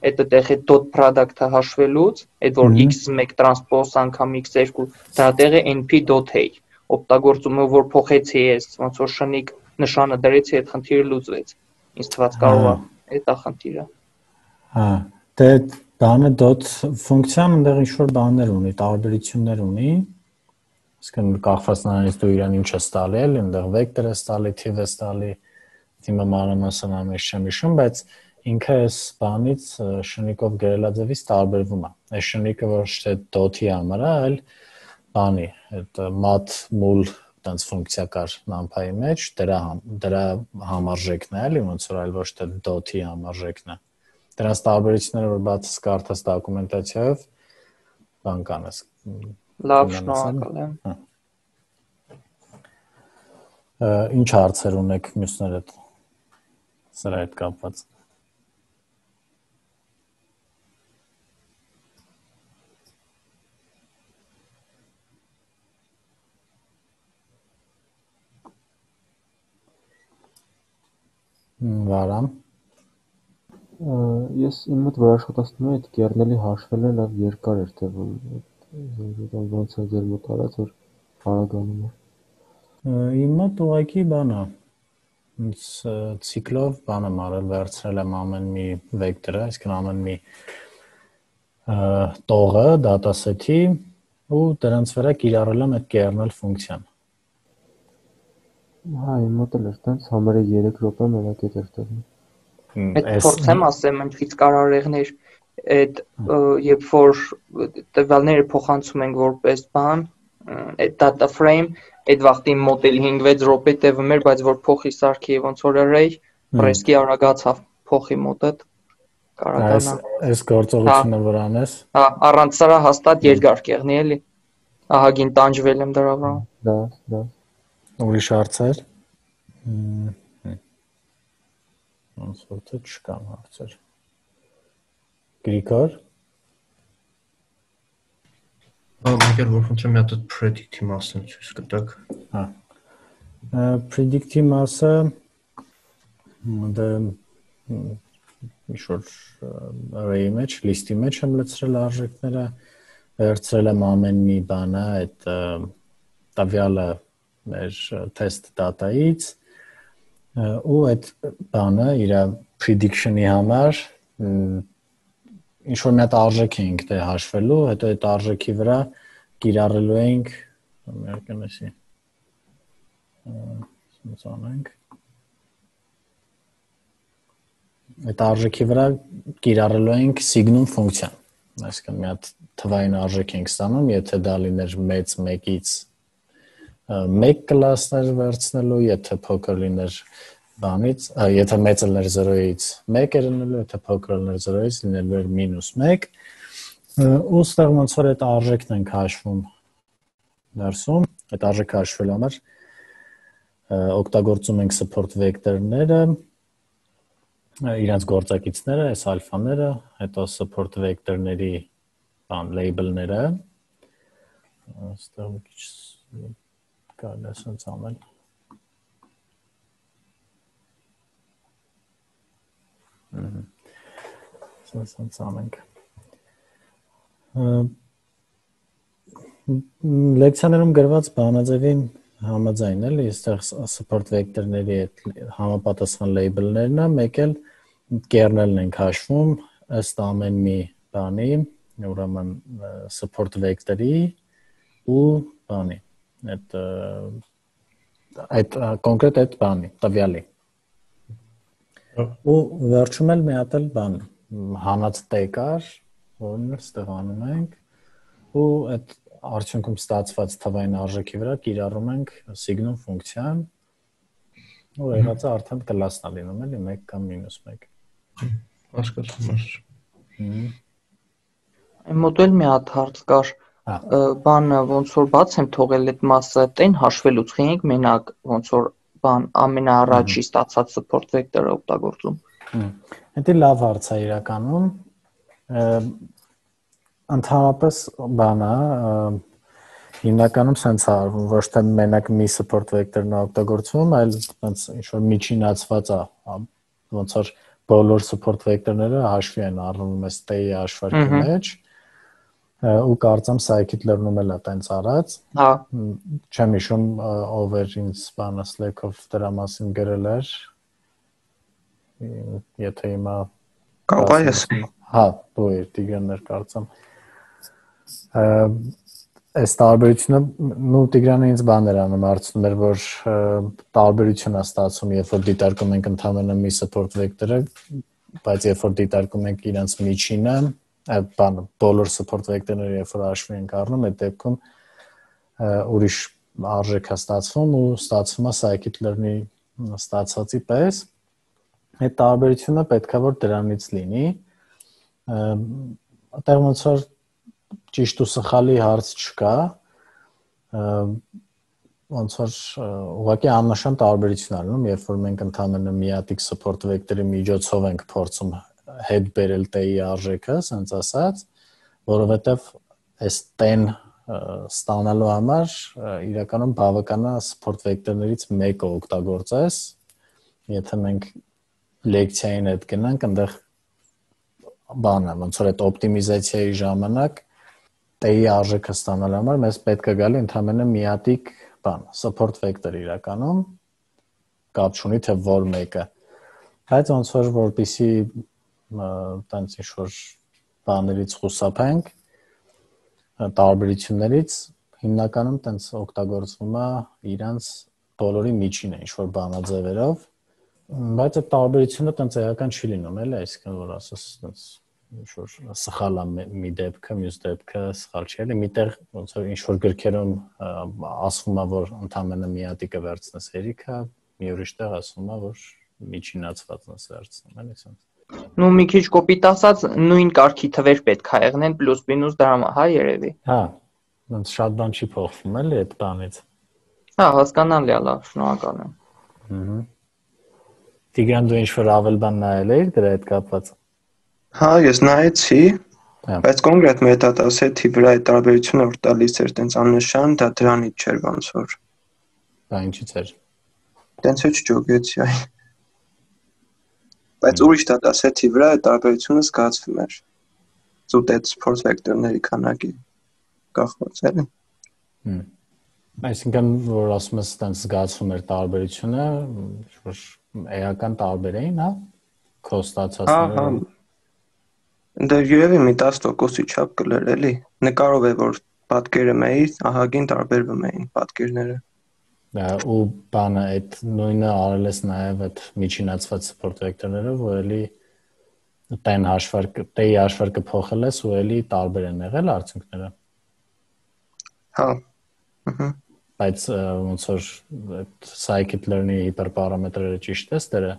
Այդ այդտեղ է dot product-ը հաշվելուց, այդ որ x մեկ տրանսպոզ անգամ x երկու, դրա տեղը np dot a օգտագործումը որ փոխեցի ես, ոնց որ շնիկ նշանը դրեցի, այդ խնդիրը լուծվեց։ Ինձ թվաց կարող է այդ է խնդիրը։ Հա, դե բանը dot ֆունկցիան այնտեղ ինչ որ բաներ ունի, տարբերություններ ունի։ Իսկն կախված նրանից դու իրան ինչ ես տալի, այնտեղ վեկտոր ես տալի, թիվ ես տալի, թիմը մանրամասն ամեն չեմ հիշում, բայց ինքը այս բանից շնիկով գրելաձևից տարբերվում է։ Այս շնիկը ոչ թե dot-ի համար է, այլ բանի, այդ mat mul տենց ֆունկցիա կար numpy-ի մեջ, դրա դրա համարժեքն է, էլի ոնց որ այլ ոչ թե dot-ի համարժեքն է։ Դրանց տարբերությունները որ բացս կարդաս դոկումենտացիայով բան կանես։ Լավ, շնորհակալ եմ։ Ինչ հարցեր ունեք մյուսները սրա հետ կապված։ Վարամ։ Ես իմ մոտ որ աշխատացնում եմ, այդ կերնելի հաշվելը լավ երկար էր թվում, ոնց է ձեր մոտ արած, որ արագանում է։ Իմ մոտ ուղղակի բան է, ցիկլով բան եմ արել, վերցրել եմ ամեն մի վեկտորը, այսինքն ամեն մի տողը դատասեթի ու դրանց վրա կիրառել եմ այդ kernel ֆունկցիան։ Հա, իմ մոտ էլ էր տենց, համարը երեք րոպե մենակ է տերտեղում։ Այդ փորձեմ ասեմ, ինչից կարարեղներ, այդ երբ որ տվյալները փոխանցում ենք որպես բան, այդ data frame, այդ վաղտի մոդել հինգ-վեց րոպե տևում էր, բայց որ փոխի սարքի ոնց որ array, ռեսկի արագացավ փոխի մոտը կարողանա։ Այս գործողությունը որ անես։ Հա, առանց սրա հաստատ երկար կեղնի էլի։ Ահագին տանջվել եմ դրա վրա։ Դա, դա։ Ուրիշ հարցեր։ Ոնց որ թե չկան հարցեր։ Գրիգոր։ Ահա որ խնդրեմ մի հատ predict-ի մասն ցույց կտաք։ Հա։ Predict-ի մասը դա ինչ-որ array-ի մեջ, list-ի մեջ եմ լցրել արժեքները, վերցրել եմ ամեն մի բանը, այդ տվյալը մեր test data-ից ու այդ բանը իր prediction-ի համար ինչ-որ մի հատ արժեք էինք դե հաշվելու, հետո այդ արժեքի վրա կիրառելու էինք, մերկենեսի, սենց անենք, այդ արժեքի վրա կիրառելու էինք signum ֆունկցիան, այսինքն մի հատ թվային արժեք ենք ստանում, եթե դա լիներ մեծ մեկից մեկ կլասներ վերցնելու, եթե փոքր լիներ բանից, եթե մեծը լիներ զրոյից մեկ էր լինելու, եթե փոքր լիներ զրոյից լինելու էր մինուս մեկ, ու ստեղ ոնց որ այդ արժեքն ենք հաշվում ներսում, այդ արժեքը հաշվելու համար օգտագործում ենք support vector-ները, իրենց գործակիցները, այս ալֆաները, հետո support vector-ների բան label-ները, ստեղ մի քիչ կարելի է սենց անել։ Սենց անենք։ Լեկցիաներում գրված բանաձևին համաձայն էլի, այստեղ support vector-ների այդ համապատասխան label-ներն է, մեկ էլ kernel-ն ենք հաշվում, ըստ ամեն մի բանի, ուրեմն support vector-ի ու բանի, այդ այդ կոնկրետ այդ բանի, տվյալի։ Ու վերջում էլ մի հատ էլ բան, հանած տեկար, որն էլ ստեղ անում ենք, ու այդ արդյունքում ստացված թվային արժեքի վրա կիրառում ենք signum ֆունկցիան, ու եղածը արդեն կլասն է լինում էլի մեկ կամ մինուս մեկ։ Հասկացա, մաս։ Այն մոտ էլ մի հատ հարց կար, բանը ոնց որ բաց եմ թողել այդ մասը, տեն հաշվելուց խինք մենակ ոնց որ բան ամենաառաջի ստացած support vector-ը օգտագործում։ Դա լավ հարց է իրականում։ Ընդհանրապես բանը հիմնականում sense արվում, ոչ թե մենակ մի support vector-ն է օգտագործվում, այլ այնց ինչ որ միջինացված է, ոնց որ բոլոր support vector-ները հաշվի են առնվում այս t-ի հաշվարկի մեջ։ Ու կարծեմ Scikit-learn-ում էլ է տենց արած։ Հա։ Չեմ հիշում ով էր ինձ բանը Slack-ով դրա մասին գրել էր։ Եթե հիմա կարող է ես։ Հա, դու ես Տիգրան ներ կարծեմ։ Այս տարբերությունը նու Տիգրանը ինձ բան էր անում, հարցնում էր, որ տարբերություն է ստացվում, երբ որ դիտարկում ենք ընդհանրապես մի support վեկտորը, բայց երբ որ դիտարկում ենք իրենց միջինը, այդ բանը բոլոր support վեկտորները երբ որ հաշվի ենք առնում, այդ դեպքում ուրիշ արժեք է ստացվում ու ստացվում է scikit-learn-ի ստացածի պես։ Այդ տարբերությունը պետքա որ դրանից լինի։ Այդտեղ ոնց որ ճիշտ ու սխալի հարց չկա, ոնց որ ուղղակի աննշան տարբերություն անում, երբ որ մենք ընդհանրապես միատիկ support վեկտորի միջոցով ենք փորձում հետ բերել t-ի արժեքը, ասենց ասած, որովհետև այս t-ն ստանալու համար իրականում բավական է support վեկտորներից մեկը օգտագործես, եթե մենք լեկցիային հետ գնանք, այնտեղ բանը, ոնց որ այդ օպտիմիզացիայի ժամանակ t-ի արժեքը ստանալու համար մեզ պետք է գալի ընդհանրապես միատիկ բան, support vector իրականում կապ չունի թե որ մեկը։ Բայց ոնց որ որպեսի տենց ինչ-որ բաներից խուսափենք, տարբերություններից հիմնականում տենց օգտագործվում է իրանց բոլորի միջինը ինչ-որ բանաձևերով, բայց այդ տարբերությունը տենց էական չի լինում, էլի, այսինքն որ ասես տենց ինչ-որ սխալ է մի դեպքը, մյուս դեպքը սխալ չի, էլի, միտեղ ոնց որ ինչ-որ գրքերում ասվում է, որ ընդհանրապես միատիկը վերցնես հերիքը, մի ուրիշ տեղ ասվում է, որ միջինացվածն ես վերցնում, էլի, ասենց։ Նու մի քիչ կոպիտ ասած նույն կարգի թվեր պետք է եղնեն պլյուս մինուս դրամա, հա, երևի։ Հա, ոնց շատ բան չի փոխվում, էլի, այդ բանից։ Հա, հասկանալի է, լավ, շնորհակալ եմ։ Ահա։ Տիգրան, դու ինչ-որ ավել բան նայել էիր դրա հետ կապված։ Հա, ես նայեցի, բայց կոնկրետ մետադասեթի վրա այդ տարբերությունը որ տալիս էր տենց աննշան, դա դրանից չէր ոնց որ։ Դա ինչից էր։ Տենց էլ չջոգեցի, այ։ Բայց ուրիշ դատասեթի վրա այդ տարբերությունը զգացվում էր։ Զուտ այդ support vector-ների քանակի կախված էլի։ Հմ։ Այսինքն որ ասում ես տենց զգացվում էր տարբերությունը, որ էական տարբեր էին, հա։ Քո ստացածները։ Հա, հա։ Դա երևի մի տասը տոկոսի չափ կլեր էլի։ Նկարով է որ պատկերը մեի, ահագին տարբերվում էին պատկերները։ Ու բանը այդ նույնը արել ես նաև այդ միջինացված support vector-ներով, որ էլի տեն հաշվարկը, t-ի հաշվարկը փոխել ես ու էլի տարբեր են եղել արդյունքները։ Հա։ Ահա։ Բայց ոնց որ այդ scikit-learn-ի հիպերպարամետրերը ճիշտ ես դերը։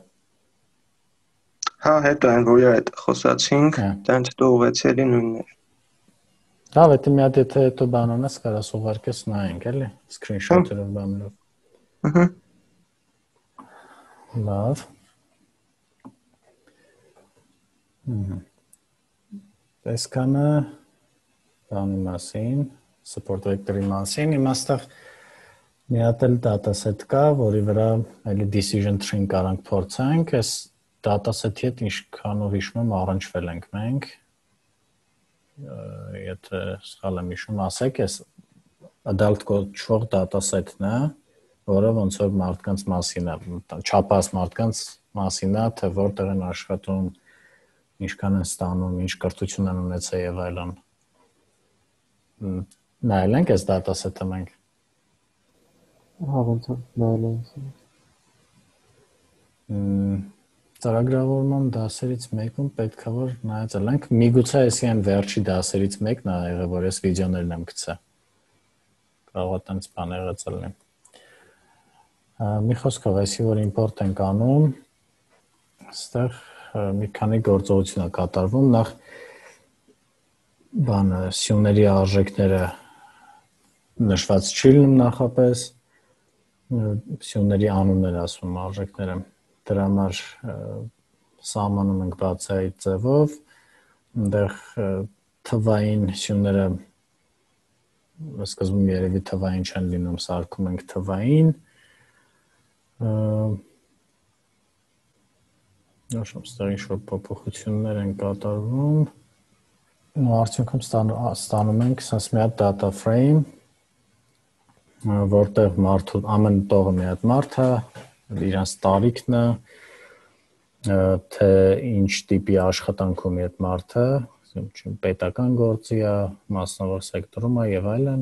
Հա, հետո այն որ այդ խոսացինք, դրանց հետո ուղղեցի էլի նույնն էր։ Լավ, դա մի հատ եթե հետո բան անես, կարաս ուղարկես նայենք, էլի, screenshot-երով բաներով։ Ահա։ Լավ։ Հմ։ Այսքանը բանի մասին, support vector-ի մասին, իմաստեղ մի հատ էլ dataset կա, որի վրա էլի decision tree-ն կարանք փորձենք, այս dataset-ի հետ ինչքանով հիշում եմ առնչվել ենք մենք։ Եթե սխալ եմ հիշում, ասեք, այս adult կոչվող dataset-ն է, որը ոնց որ մարդկանց մասին է, չափած մարդկանց մասին է, թե որտեղ են աշխատում, ինչքան են ստանում, ինչ կրթություն են ունեցել եւ այլն։ Նայել ենք այս dataset-ը մենք։ Հա, ոնց որ նայել ենք։ Մմ Ծրագրավորման դասերից մեկում պետքա որ նայել ենք, միգուցե էսի այն վերջի դասերից մեկն է եղել, որ ես վիդեոներն եմ գցել։ Կարող է տենց բան եղել լինի։ Մի խոսքով, այսի որ import ենք անում, այստեղ մի քանի գործողություն է կատարվում, նախ բանը սյուների արժեքները նշված չի լինում նախապես, սյուների անուններ ասում արժեքները։ Դրա համար սահմանում ենք բացայի ձևով, այնտեղ թվային սյուները սկզբում երևի թվային չեն լինում, սարքում ենք թվային։ Նշում ստեղ ինչ-որ փոփոխություններ են կատարվում։ Ու արդյունքում ստանում ենք ասես մի հատ data frame, որտեղ մարդու ամեն տողը մի հատ մարդ է, իրանց տարիքն է, թե ինչ տիպի աշխատանքում է այդ մարդը, պետական գործի է, մասնավոր սեկտորում է եւ այլն,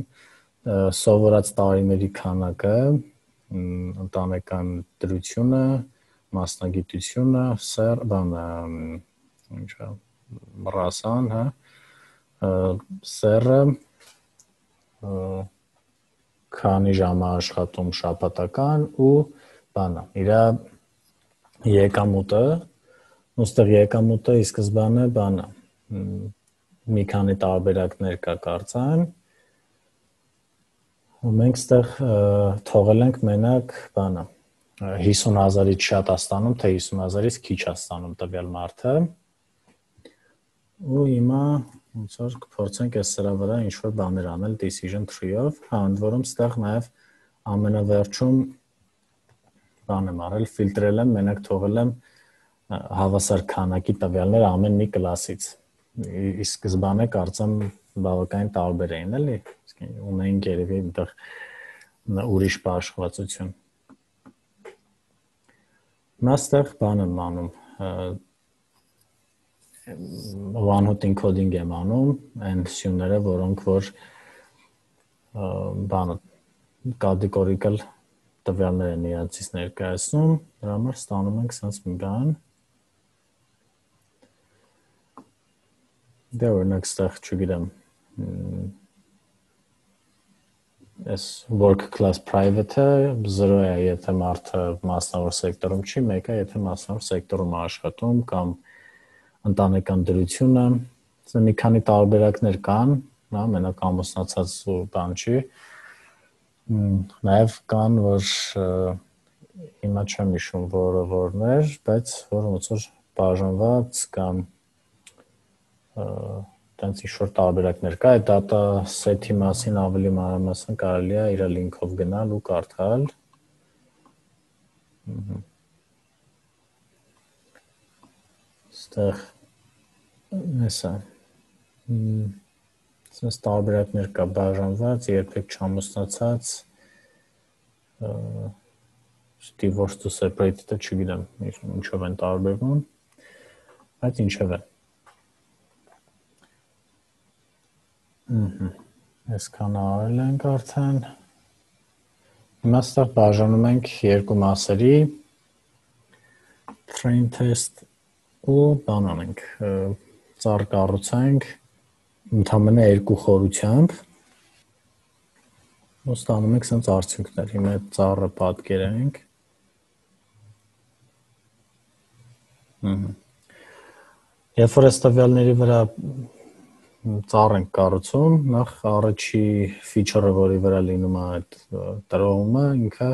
սովորած տարիների քանակը, ընտանեկան դրությունը, մասնագիտությունը, սեր, բանը, ինչա, ռասան, հա, սերը, քանի ժամ է աշխատում շաբաթական ու բանը, իր եկամուտը, ուստեղ եկամուտը ի սկզբանե բանը, մի քանի տարբերակներ կա կարծեմ, ու մենք ստեղ թողել ենք մենակ բանը, հիսուն հազարից շատ է ստանում, թե հիսուն հազարից քիչ է ստանում տվյալ մարդը, ու հիմա ոնց որ կփորձենք այս սրա վրա ինչ-որ բաներ անել decision tree-ով, հա, ընդ որում ստեղ նաև ամենավերջում բան եմ արել, ֆիլտրել եմ, մենակ թողել եմ հավասար քանակի տվյալներ ամեն մի կլասից։ Ի սկզբանե կարծեմ բավականին տարբեր էին, էլի, ունեին երևի այնտեղ ուրիշ բաշխվածություն։ Հիմա ստեղ բան եմ անում, one-hot encoding եմ անում, այն սյուները, որոնք որ բանը categorical տվյալներ են իրացից ներկայացնում, դրա համար ստանում ենք սենց մի բան։ Դե օրինակ ստեղ չգիտեմ, այս work class private-ը զրո է, եթե մարդը մասնավոր սեկտորում չի, մեկ է, եթե մասնավոր սեկտորում է աշխատում կամ ընտանեկան դրությունը, մի քանի տարբերակներ կան, հա, մենակ ամուսնացած ու բան չի, նաև կան, որ հիմա չեմ հիշում որը որներ, բայց որ ոնց որ բաժանված կամ տենց ինչ-որ տարբերակներ կա, այդ data set-ի մասին ավելի մանրամասն կարելի է իր link-ով գնալ ու կարդալ։ Ստեղ էսա։ Սենց տարբերակներ կա բաժանված, երբեք չամուսնացած, divorced to separated-ը չգիտեմ, ինչով են տարբերվում, բայց ինչև է։ Այսքան արել ենք արդեն։ Հիմա ստեղ բաժանում ենք երկու մասերի, train test ու բան անենք, ծառ կառուցենք ընդամենը երկու խորությամբ, ու ստանում ենք սենց արդյունքներ, հիմա այդ ծառը պատկերենք։ Երբ որ այս տվյալների վրա ծառ ենք կառուցում, նախ առաջի feature-ը, որի վրա լինում է այդ տրոհումը, ինքը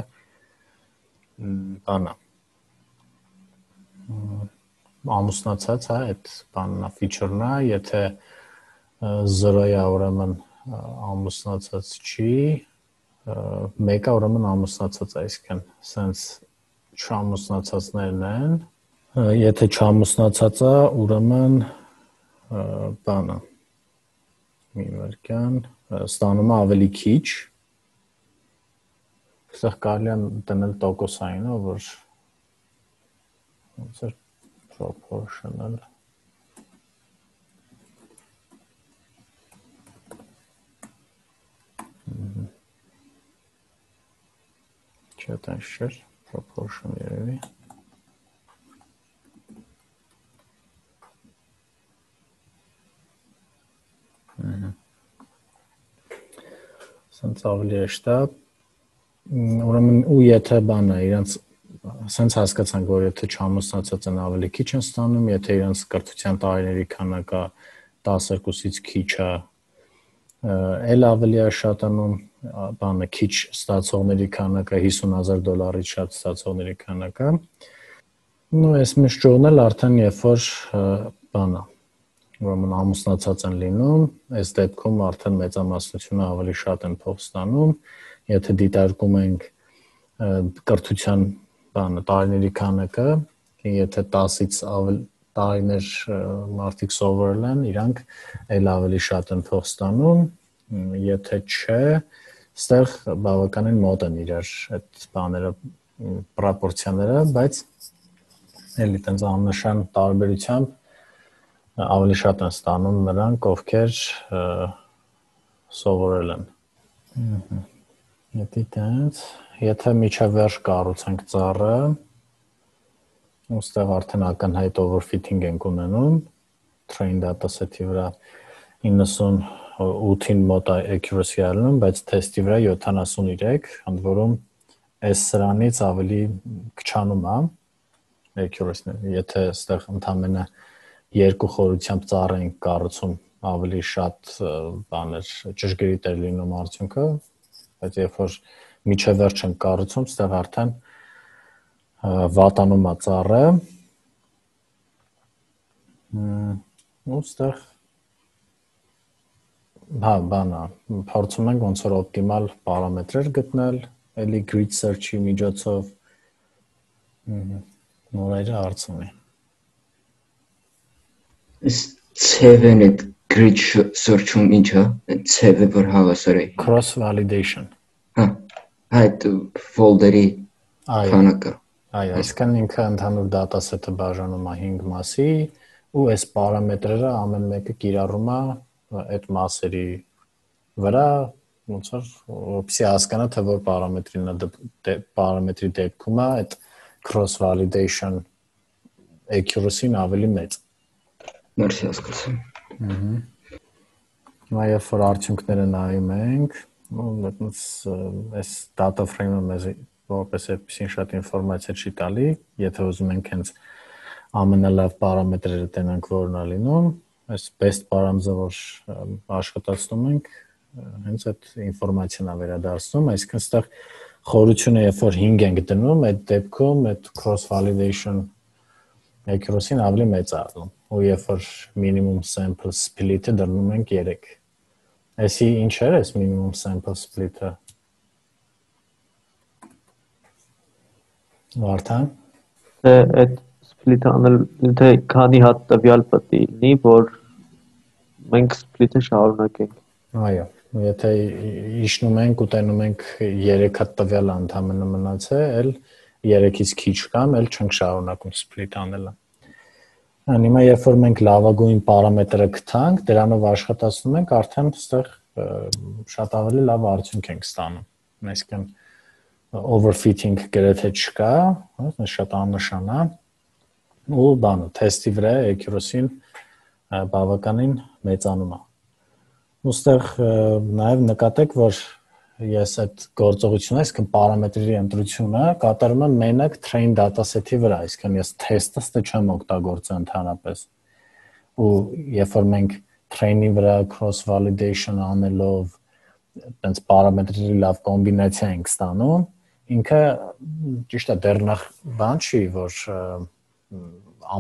բանա ամուսնացած է, այդ բանն է, feature-ն է, եթե զրո է, ուրեմն ամուսնացած չի, մեկը ուրեմն ամուսնացած է, այսինքն սենց չամուսնացածներն են, եթե չամուսնացած է, ուրեմն բանը մի վարկյան, ստանում է ավելի քիչ, ստեղ կարելի է դնել տոկոսային, որ ոնց է proportional, չէ տենց չէր, proportion երևի, սենց ավելի էշտ է, ուրեմն ու եթե բանը իրանց սենց հասկացանք, որ եթե չամուսնացած են ավելի քիչ են ստանում, եթե իրանց կրթության տարիների քանակը տասներկուսից քիչ է, էլ ավելի է շատանում, բանը քիչ ստացողների քանակը հիսուն հազար դոլարից շատ ստացողների քանակը, ու այս միշճողն էլ արդեն երբ որ բանը ուրեմն ամուսնացած են լինում, այս դեպքում արդեն մեծամասնությունը ավելի շատ են փող ստանում, եթե դիտարկում ենք կրթության բանը տարիների քանակը, եթե տասից ավելի տարիներ մարդիկ սովորել են, իրանք էլ ավելի շատ են փող ստանում, եթե չէ, ստեղ բավականին մոտ են իրար այդ բաները, պրոպորցիաները, բայց էլի տենց աննշան տարբերությամբ ավելի շատ են ստանում նրանք, ովքեր սովորել են։ Եթե տենց, եթե միջավերջ կառուցենք ծառը, ուստեղ արդեն ակնհայտ overfitting ենք ունենում, train dataset-ի վրա իննսունութին մոտ accuracy ալնում, բայց test-ի վրա յոթանասունութրեք, ընդ որում այս սրանից ավելի քչանում է accuracy-ն, եթե այստեղ ընդամենը երկու խորությամբ ծառ ենք կառուցում, ավելի շատ բաներ ճշգրիտ է լինում արդյունքը, բայց երբ որ միջավերջ ենք կառուցում, այստեղ արդեն վատանում է ծառը, ու այստեղ հա, բանա, փորձում ենք ոնց որ օպտիմալ պարամետրեր գտնել, էլի grid search-ի միջոցով, նորերը հարց ունի։ Ցևն այդ grid search-ում ինչա, ցևը որ հավասար է։ Cross validation։ Հա, այդ folder-ի քանակը։ Այո, այսքան ինքը ընդհանուր dataset-ը բաժանում է հինգ մասի, ու այս պարամետրերը ամեն մեկը կիրառում է այդ մասերի վրա, ոնց որ որպեսզի հասկանա թե որ պարամետրին է պարամետրի դեպքում է այդ cross validation accuracy-ն ավելի մեծ։ Մերսի հասկացա։ Ահա։ Հիմա երբ որ արդյունքները նայում ենք, այդպես այս data frame-ը մեզ որպես այդպեսին շատ ինֆորմացիա չի տալի, եթե ուզում ենք հենց ամենալավ պարամետրերը տենանք որն է լինում, այս best params-ը որ աշխատացնում ենք, հենց այդ ինֆորմացիան է վերադարձնում, այսինքն այստեղ խորությունը երբ որ հինգ ենք դնում, այդ դեպքում այդ cross validation accuracy-ն ավելի մեծ է ալնում, ու երբ որ minimum sample split-ը դնում ենք երեք։ Այսի ինչ էր այս minimum sample split-ը։ Վարդան։ Թե այդ split-ը անել, թե քանի հատ տվյալ պետք է լինի, որ մենք split-ը շարունակենք։ Այո, եթե իջնում ենք ու տենում ենք երեք հատ տվյալ ընդհանրապես մնացել, երեքից քիչ կամ էլ չենք շարունակում split անելը։ Հիմա երբ որ մենք լավագույն պարամետրը գտանք, դրանով աշխատացնում ենք, արդեն այստեղ շատ ավելի լավ արդյունք ենք ստանում։ Այսինքն overfitting գրեթե չկա, շատ աննշան է, ու բանը թեստի վրա accuracy-ն բավականին մեծանում է։ Ոստեղ նաև նկատեք, որ ես այդ գործողությունը, այսինքն պարամետրերի ընտրությունը կատարում եմ մենակ train dataset-ի վրա, այսինքն ես test-ը չեմ օգտագործել ընդհանրապես։ Ու երբ որ մենք train-ի վրա cross validation անելով այդպես պարամետրերի լավ կոմբինացիա ենք ստանում, ինքը ճիշտ է դեռ նախ բան չի, որ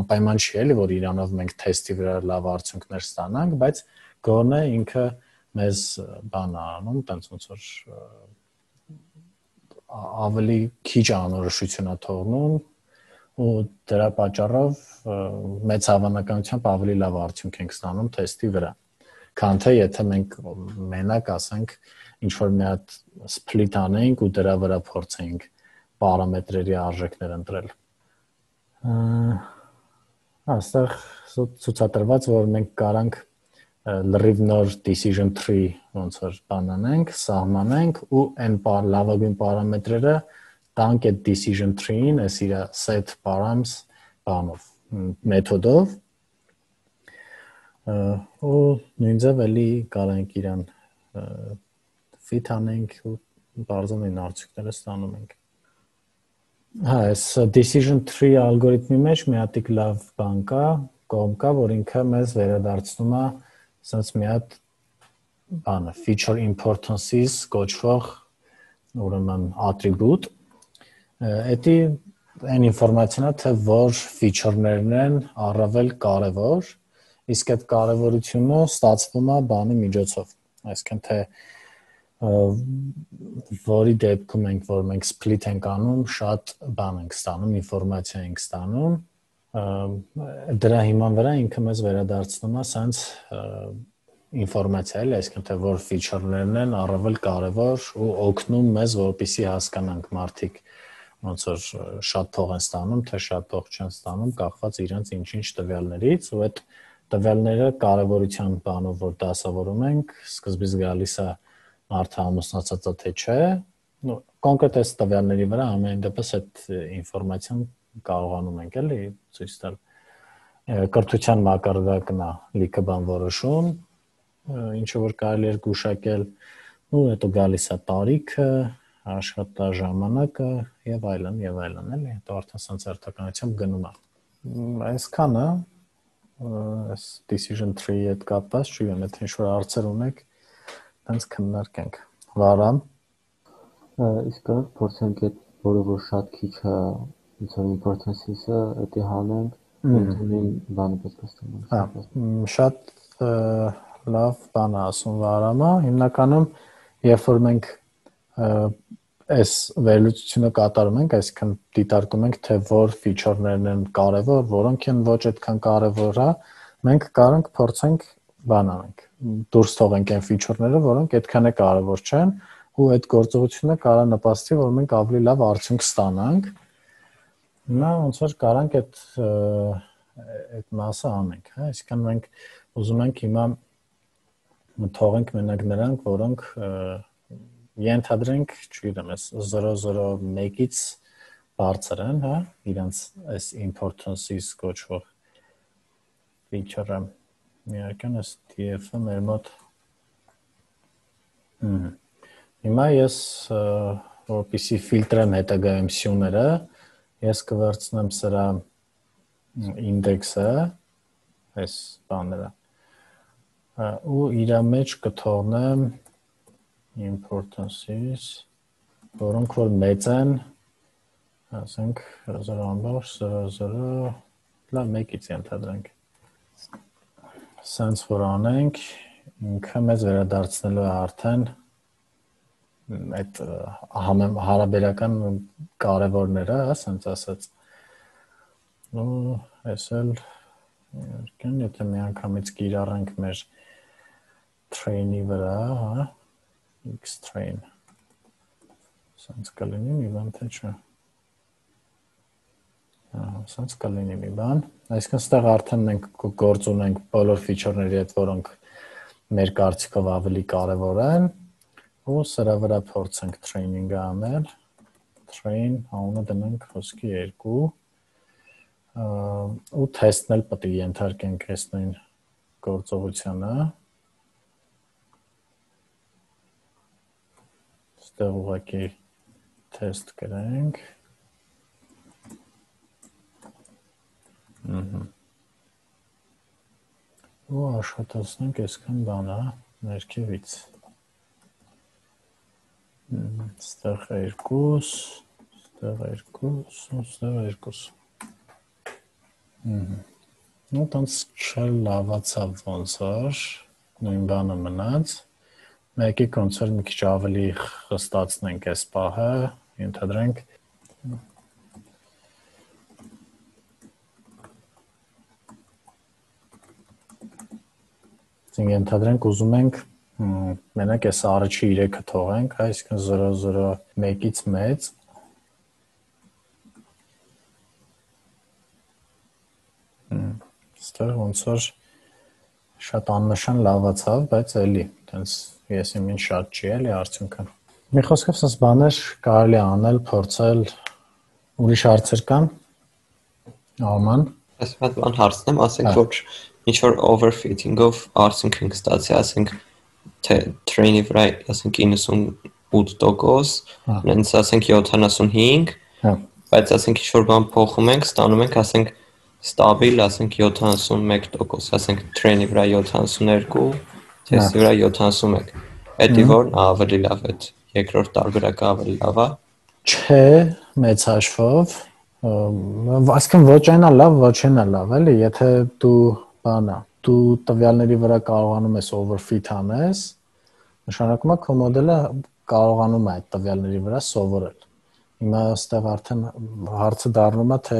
անպայման չի էլի, որ իրանով մենք թեստի վրա լավ արդյունքներ ստանանք, բայց գոնե ինքը մեզ բան անում, տենց ոնց որ ավելի քիչ անորոշություն է թողնում, ու դրա պատճառով մեծ հավանականությամբ ավելի լավ արդյունք ենք ստանում թեստի վրա։ Քան թե եթե մենք մենակ ասենք ինչ որ մի հատ split անենք ու դրա վրա փորձենք պարամետրերի արժեքներ ընտրել։ Այստեղ ցուցադրված որ մենք կարանք լրիվ նոր decision tree ոնց որ բան անենք, սահմանենք ու այն լավագույն պարամետրերը տանք այդ decision tree-ին, այս իր set params բանով, մեթոդով, ու նույն ձև էլի կարանք իրան fit անենք ու բարձրային արդյունքները ստանում ենք։ Հա, այս decision tree ալգորիթմի մեջ մի հատ լավ բան կա, կողմ կա, որ ինքը մեզ վերադարձնում է ասած մի հատ բանը feature importances կոչվող ուրեմն attribute։ Էդի այն ինֆորմացիան է, թե որ feature-ներն են առավել կարևոր, իսկ այդ կարևորությունը ստացվում է բանի միջոցով, այսինքն թե որի դեպքում ենք, որ մենք split ենք անում, շատ բան ենք ստանում, ինֆորմացիա ենք ստանում, դրա հիման վրա ինքը մեզ վերադարձնում է սենց ինֆորմացիա, այսինքն թե որ feature-ներն են առավել կարևոր ու օգնում մեզ, որպեսզի հասկանանք մարդիկ ոնց որ շատ փող են ստանում, թե շատ փող չեն ստանում, կախված իրենց ինչ-ինչ տվյալներից, ու այդ տվյալները կարևորության բանով որ դասավորում ենք, սկզբից գալիս է մարդը ամուսնացած է թե չէ, նո կոնկրետ այս տվյալների վրա ամեն դեպս այդ ինֆորմացիան կարողանում ենք էլի ցույց տալ։ Կրթության մակարդակն է լիքը բան որոշում, ինչը որ կարելի է գուշակել, ու հետո գալիս է տարիքը, աշխատաժամանակը եւ այլն եւ այլն էլի, հետո արդեն սենց հերթականությամբ գնում է։ Այսքանը այս decision tree-ի հետ կապված, չգիտեմ, եթե ինչ-որ հարցեր ունեք, դրանց քննարկենք։ Վարան։ Իսկ կարող փորձենք այդ որը որ շատ քիչ է, ոնց որ importance-ը, դա հանենք, ընդունին բանը պետք է ստանանք։ Հա, շատ լավ բան է ասում Վարամը, հիմնականում երբ որ մենք այս վերլուծությունը կատարում ենք, այսինքն դիտարկում ենք, թե որ feature-ներն են կարևոր, որոնք են ոչ այդքան կարևոր, հա, մենք կարող ենք փորձենք բան անենք, դուրս թողենք այն feature-ները, որոնք այդքան է կարևոր չեն, ու այդ գործողությունը կարող է նպաստի, որ մենք ավելի լավ արդյունք ստանանք։ Հիմա ոնց որ կարանք այդ այդ մասը անենք, հա, այսինքն մենք ուզում ենք հիմա թողենք մենակ նրանք, որոնք ենթադրենք, չգիտեմ, այս զրո զրո մեկից բարձր են, հա, իրանց այս importance-ից կոչվող feature-ը։ Միական այս T F-ը մեր մոտ հիմա ես որպեսզի ֆիլտրեմ հետագայությունները, ես կվերցնեմ սրա ինդեքսը, այս բաները, ու իր մեջ կթողնեմ importance-ից, որոնք որ մեծ են, ասենք զրո ամբողջ զրո զրո, լավ մեկից ենթադրենք։ Սենց որ անենք, ինքը մեզ վերադարձնելու է արդեն այդ հարաբերական կարևորները, սենց ասած։ Ու այս էլ երկեն, եթե մի անգամից կիրառենք մեր train-ի վրա, հա, X-train, սենց կլինի մի բան, թե չէ։ Սենց կլինի մի բան, այսինքն ստեղ արդեն մենք գործ ունենք բոլոր feature-ների հետ, որոնք մեր կարծիքով ավելի կարևոր են, ու սրա վրա փորձենք training-ը անել, train անունը դնենք խոսքի երկու, ու test-ն էլ պետք է ենթարկենք այս նույն գործողությանը, ստեղ ուղղակի test գրենք, ու աշխատացնենք այսքան բանը ներքևից, ստեղ երկուս, ստեղ երկուս, ստեղ երկուս, ու տանց չլավացավ ոնց որ, նույն բանը մնաց, մեկի ոնց որ մի քիչ ավելի խստացնենք այս պահը, ենթադրենք, ենթադրենք ուզում ենք մենակ այս առաջի երեքը թողենք, այսինքն զրո զրո մեկից մեծ, ստեղ ոնց որ շատ աննշան լավացավ, բայց էլի, տենց ես իմ ինչ շատ չի էլի արդյունքը։ Մի խոսքով սենց բաներ կարելի է անել, փորձել, ուրիշ հարցեր կան, Արման։ Ես մի հատ բան հարցնեմ, ասենք որ ինչ որ overfitting-ով արդյունք ենք ստացի, ասենք թե train-ի վրա, ասենք իննսունութ տոկոս, նենց ասենք յոթանասունհինգ, բայց ասենք ինչ որ բան փոխում ենք, ստանում ենք, ասենք ստաբիլ, ասենք յոթանասունմեկ տոկոս, ասենք train-ի վրա յոթանասունհինգ, test-ի վրա յոթանասունմեկ։ Էդի որն ավելի լավ է, երկրորդ տարբերակը ավելի լավ է։ Չէ, մեծ հաշվով, այսինքն ոչ այնա լավ, ոչ այնա լավ, էլի, եթե դու բանա, դու տվյալների վրա կարողանում ես overfit անես, նշանակում է քո մոդելը կարողանում է այդ տվյալների վրա սովորել։ Հիմա այստեղ արդեն հարցը դառնում է, թե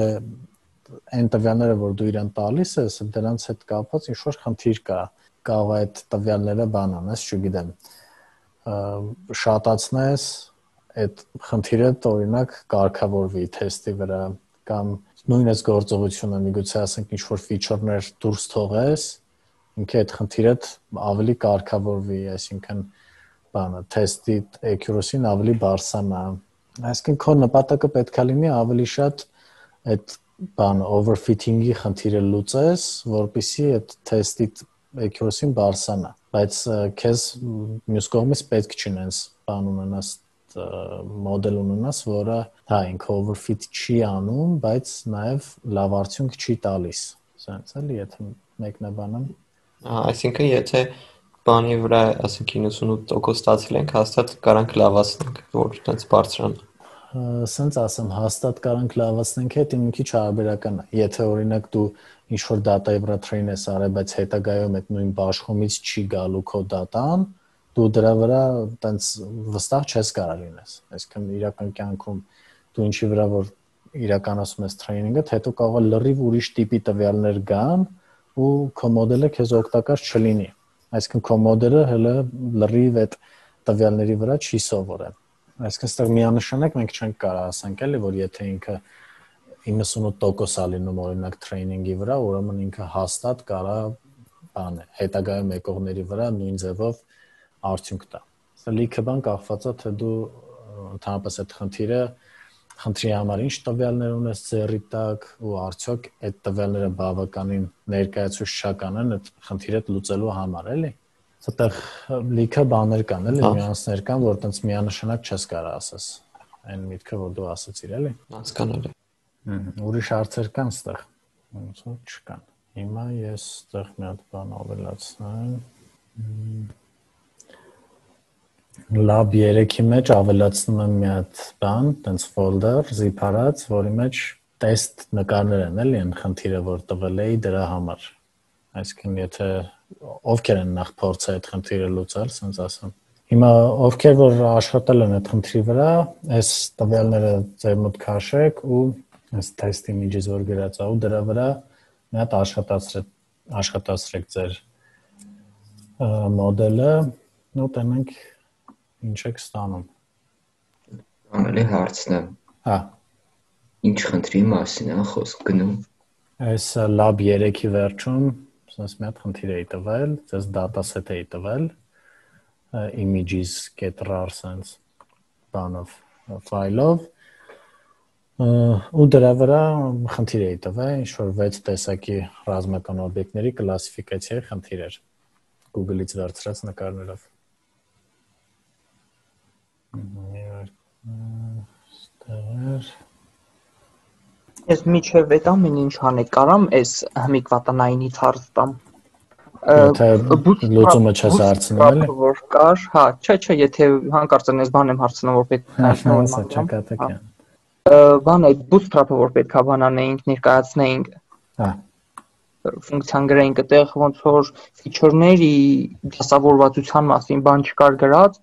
այն տվյալները, որ դու իրան տալիս ես, դրանց հետ կապված ինչ-որ խնդիր կա, կարող է այդ տվյալները բան անես, չգիտեմ, շատացնես, այդ խնդիրը օրինակ կարգավորվի թեստի վրա, կամ նույն այս գործողությունը միգուցե ասենք ինչ-որ feature-ներ դուրս թողես, ինքը այդ խնդիրը ավելի կարգավորվի, այսինքն բանը թեստի accuracy-ն ավելի բարձրանա։ Այսինքն քո նպատակը պետք է լինի ավելի շատ այդ բանը overfitting-ի խնդիրը լուծես, որպեսզի այդ թեստի accuracy-ն բարձրանա, բայց քեզ մյուս կողմից պետք չի նենց բան ունենաս մոդել ունենաս, որը հա ինքը overfit չի անում, բայց նաև լավ արդյունք չի տալիս։ Սենց էլի, եթե մեկնաբանեմ։ Այսինքն եթե բանի վրա, ասենք իննսունութ տոկոս ստացել ենք, հաստատ կարանք լավացնենք, որ այդպես բարձրանա։ Սենց ասեմ, հաստատ կարանք լավացնենք, այդ մի քիչ հարաբերական է։ Եթե օրինակ դու ինչ որ դատայի վրա train ես արել, բայց հետագայում այդ նույն բաշխումից չի գալու քո դատան, դու դրա վրա տենց վստահ չես կարող լինես։ Այսինքն իրական կյանքում դու ինչի վրա որ իրականացում ես train-ը, հետո կարող է լրիվ ուրիշ տիպի տվյալներ գան ու քո մոդելը քեզ օգտակար չլինի։ Այսինքն քո մոդելը հələ լրիվ այդ տվյալների վրա չի սովորել։ Այսինքն այստեղ միանշանակ մենք չենք կարող ասենք էլի, որ եթե ինքը իննսունութ տոկոս է լինում օրինակ train-ի վրա, ուրեմն ինքը հաստատ կարող բան է, հետագայում եկողների վրա նույն ձևով արդյունք տա։ Սա լիքը բան կախված է, թե դու ընդհանրապես այդ խնդիրը խնդրի համար ինչ տվյալներ ունես ձեռի տակ ու արդյոք այդ տվյալները բավականին ներկայացուցչական են այդ խնդիրը լուծելու համար, էլի։ Այդտեղ լիքը բաներ կան, էլի, նյուանսներ կան, որ տենց միանշանակ չես կարող ասես։ Այն միտքը, որ դու ասացիր, էլի։ Հասկանալի։ Ուրիշ հարցեր կան այստեղ։ Ոնց որ չկան։ Հիմա ես այստեղ մի հատ բան ավելացնեմ։ Lab երեքի մեջ ավելացնում եմ մի հատ բան, տենց folder, zip արած, որի մեջ test նկարներ են, էլի, այն խնդիրը, որ տվել էի դրա համար։ Այսինքն եթե ովքեր են նախ փորձել այդ խնդիրը լուծել, ասենց ասեմ։ Հիմա ովքեր որ աշխատել են այդ խնդրի վրա, այս տվյալները ձեր մոտ քաշեք ու այս test image-ից որ գրած է ու դրա վրա մի հատ աշխատացրեք, աշխատացրեք ձեր մոդելը, ու տենենք ինչ եք ստանում։ Ամենի հարցն է։ Հա։ Ինչ խնդրի մասին է խոսք գնում։ Այս lab երեքի վերջում ասես մի հատ խնդիր էի տվել, ձեզ dataset էի տվել, images.rar sense բանով, ֆայլով, ու դրա վրա խնդիր էի տվել, ինչ որ վեց տեսակի ռազմական օբյեկտների կլասիֆիկացիայի խնդիր էր, Google-ից վերցրած նկարներով։ Ես միջև այդ ամեն ինչ անեք կարամ այս հմիկ վատնայինից հարց տամ։ Եթե լուծումը չես հարցնում էլի։ Որ կար, հա, չէ, չէ, եթե հանկարծ ես բան եմ հարցնում, որ պետք է հարցնեմ։ Բան այդ bootstrap-ը որ պետք է բանանեինք, ներկայացնեինք։ Հա։ Ֆունկցիան գրեինք այդտեղ ոնց որ feature-ների դասավորվածության մասին բան չկար գրած,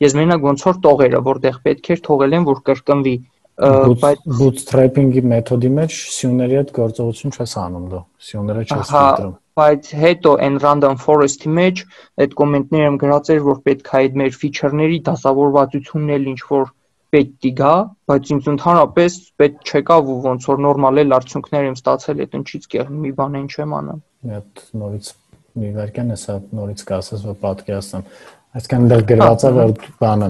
ես մենակ ոնց որ տողերը, որտեղ պետք էր թողել են, որ կրկնվի։ Բայց bootstrapping-ի մեթոդի մեջ սյուների հետ գործողություն չես անում դու, սյուները չես ֆիլտրում։ Բայց հետո այն random forest-ի մեջ այդ կոմենտները եմ գրած էր, որ պետք է այդ մեր feature-ների դասավորվածությունն էլ ինչ որ պետք է գա, բայց ինձ ընդհանրապես պետք չեկավ ու ոնց որ նորմալ էլ արդյունքներ եմ ստացել, այդ ինչից կեղնի մի բան ինչ եմ անում։ Այդ նորից մի վարքան էսա նորից կասես, որ պատկերացնեմ։ Այսինքն դեռ գրված է որ բանը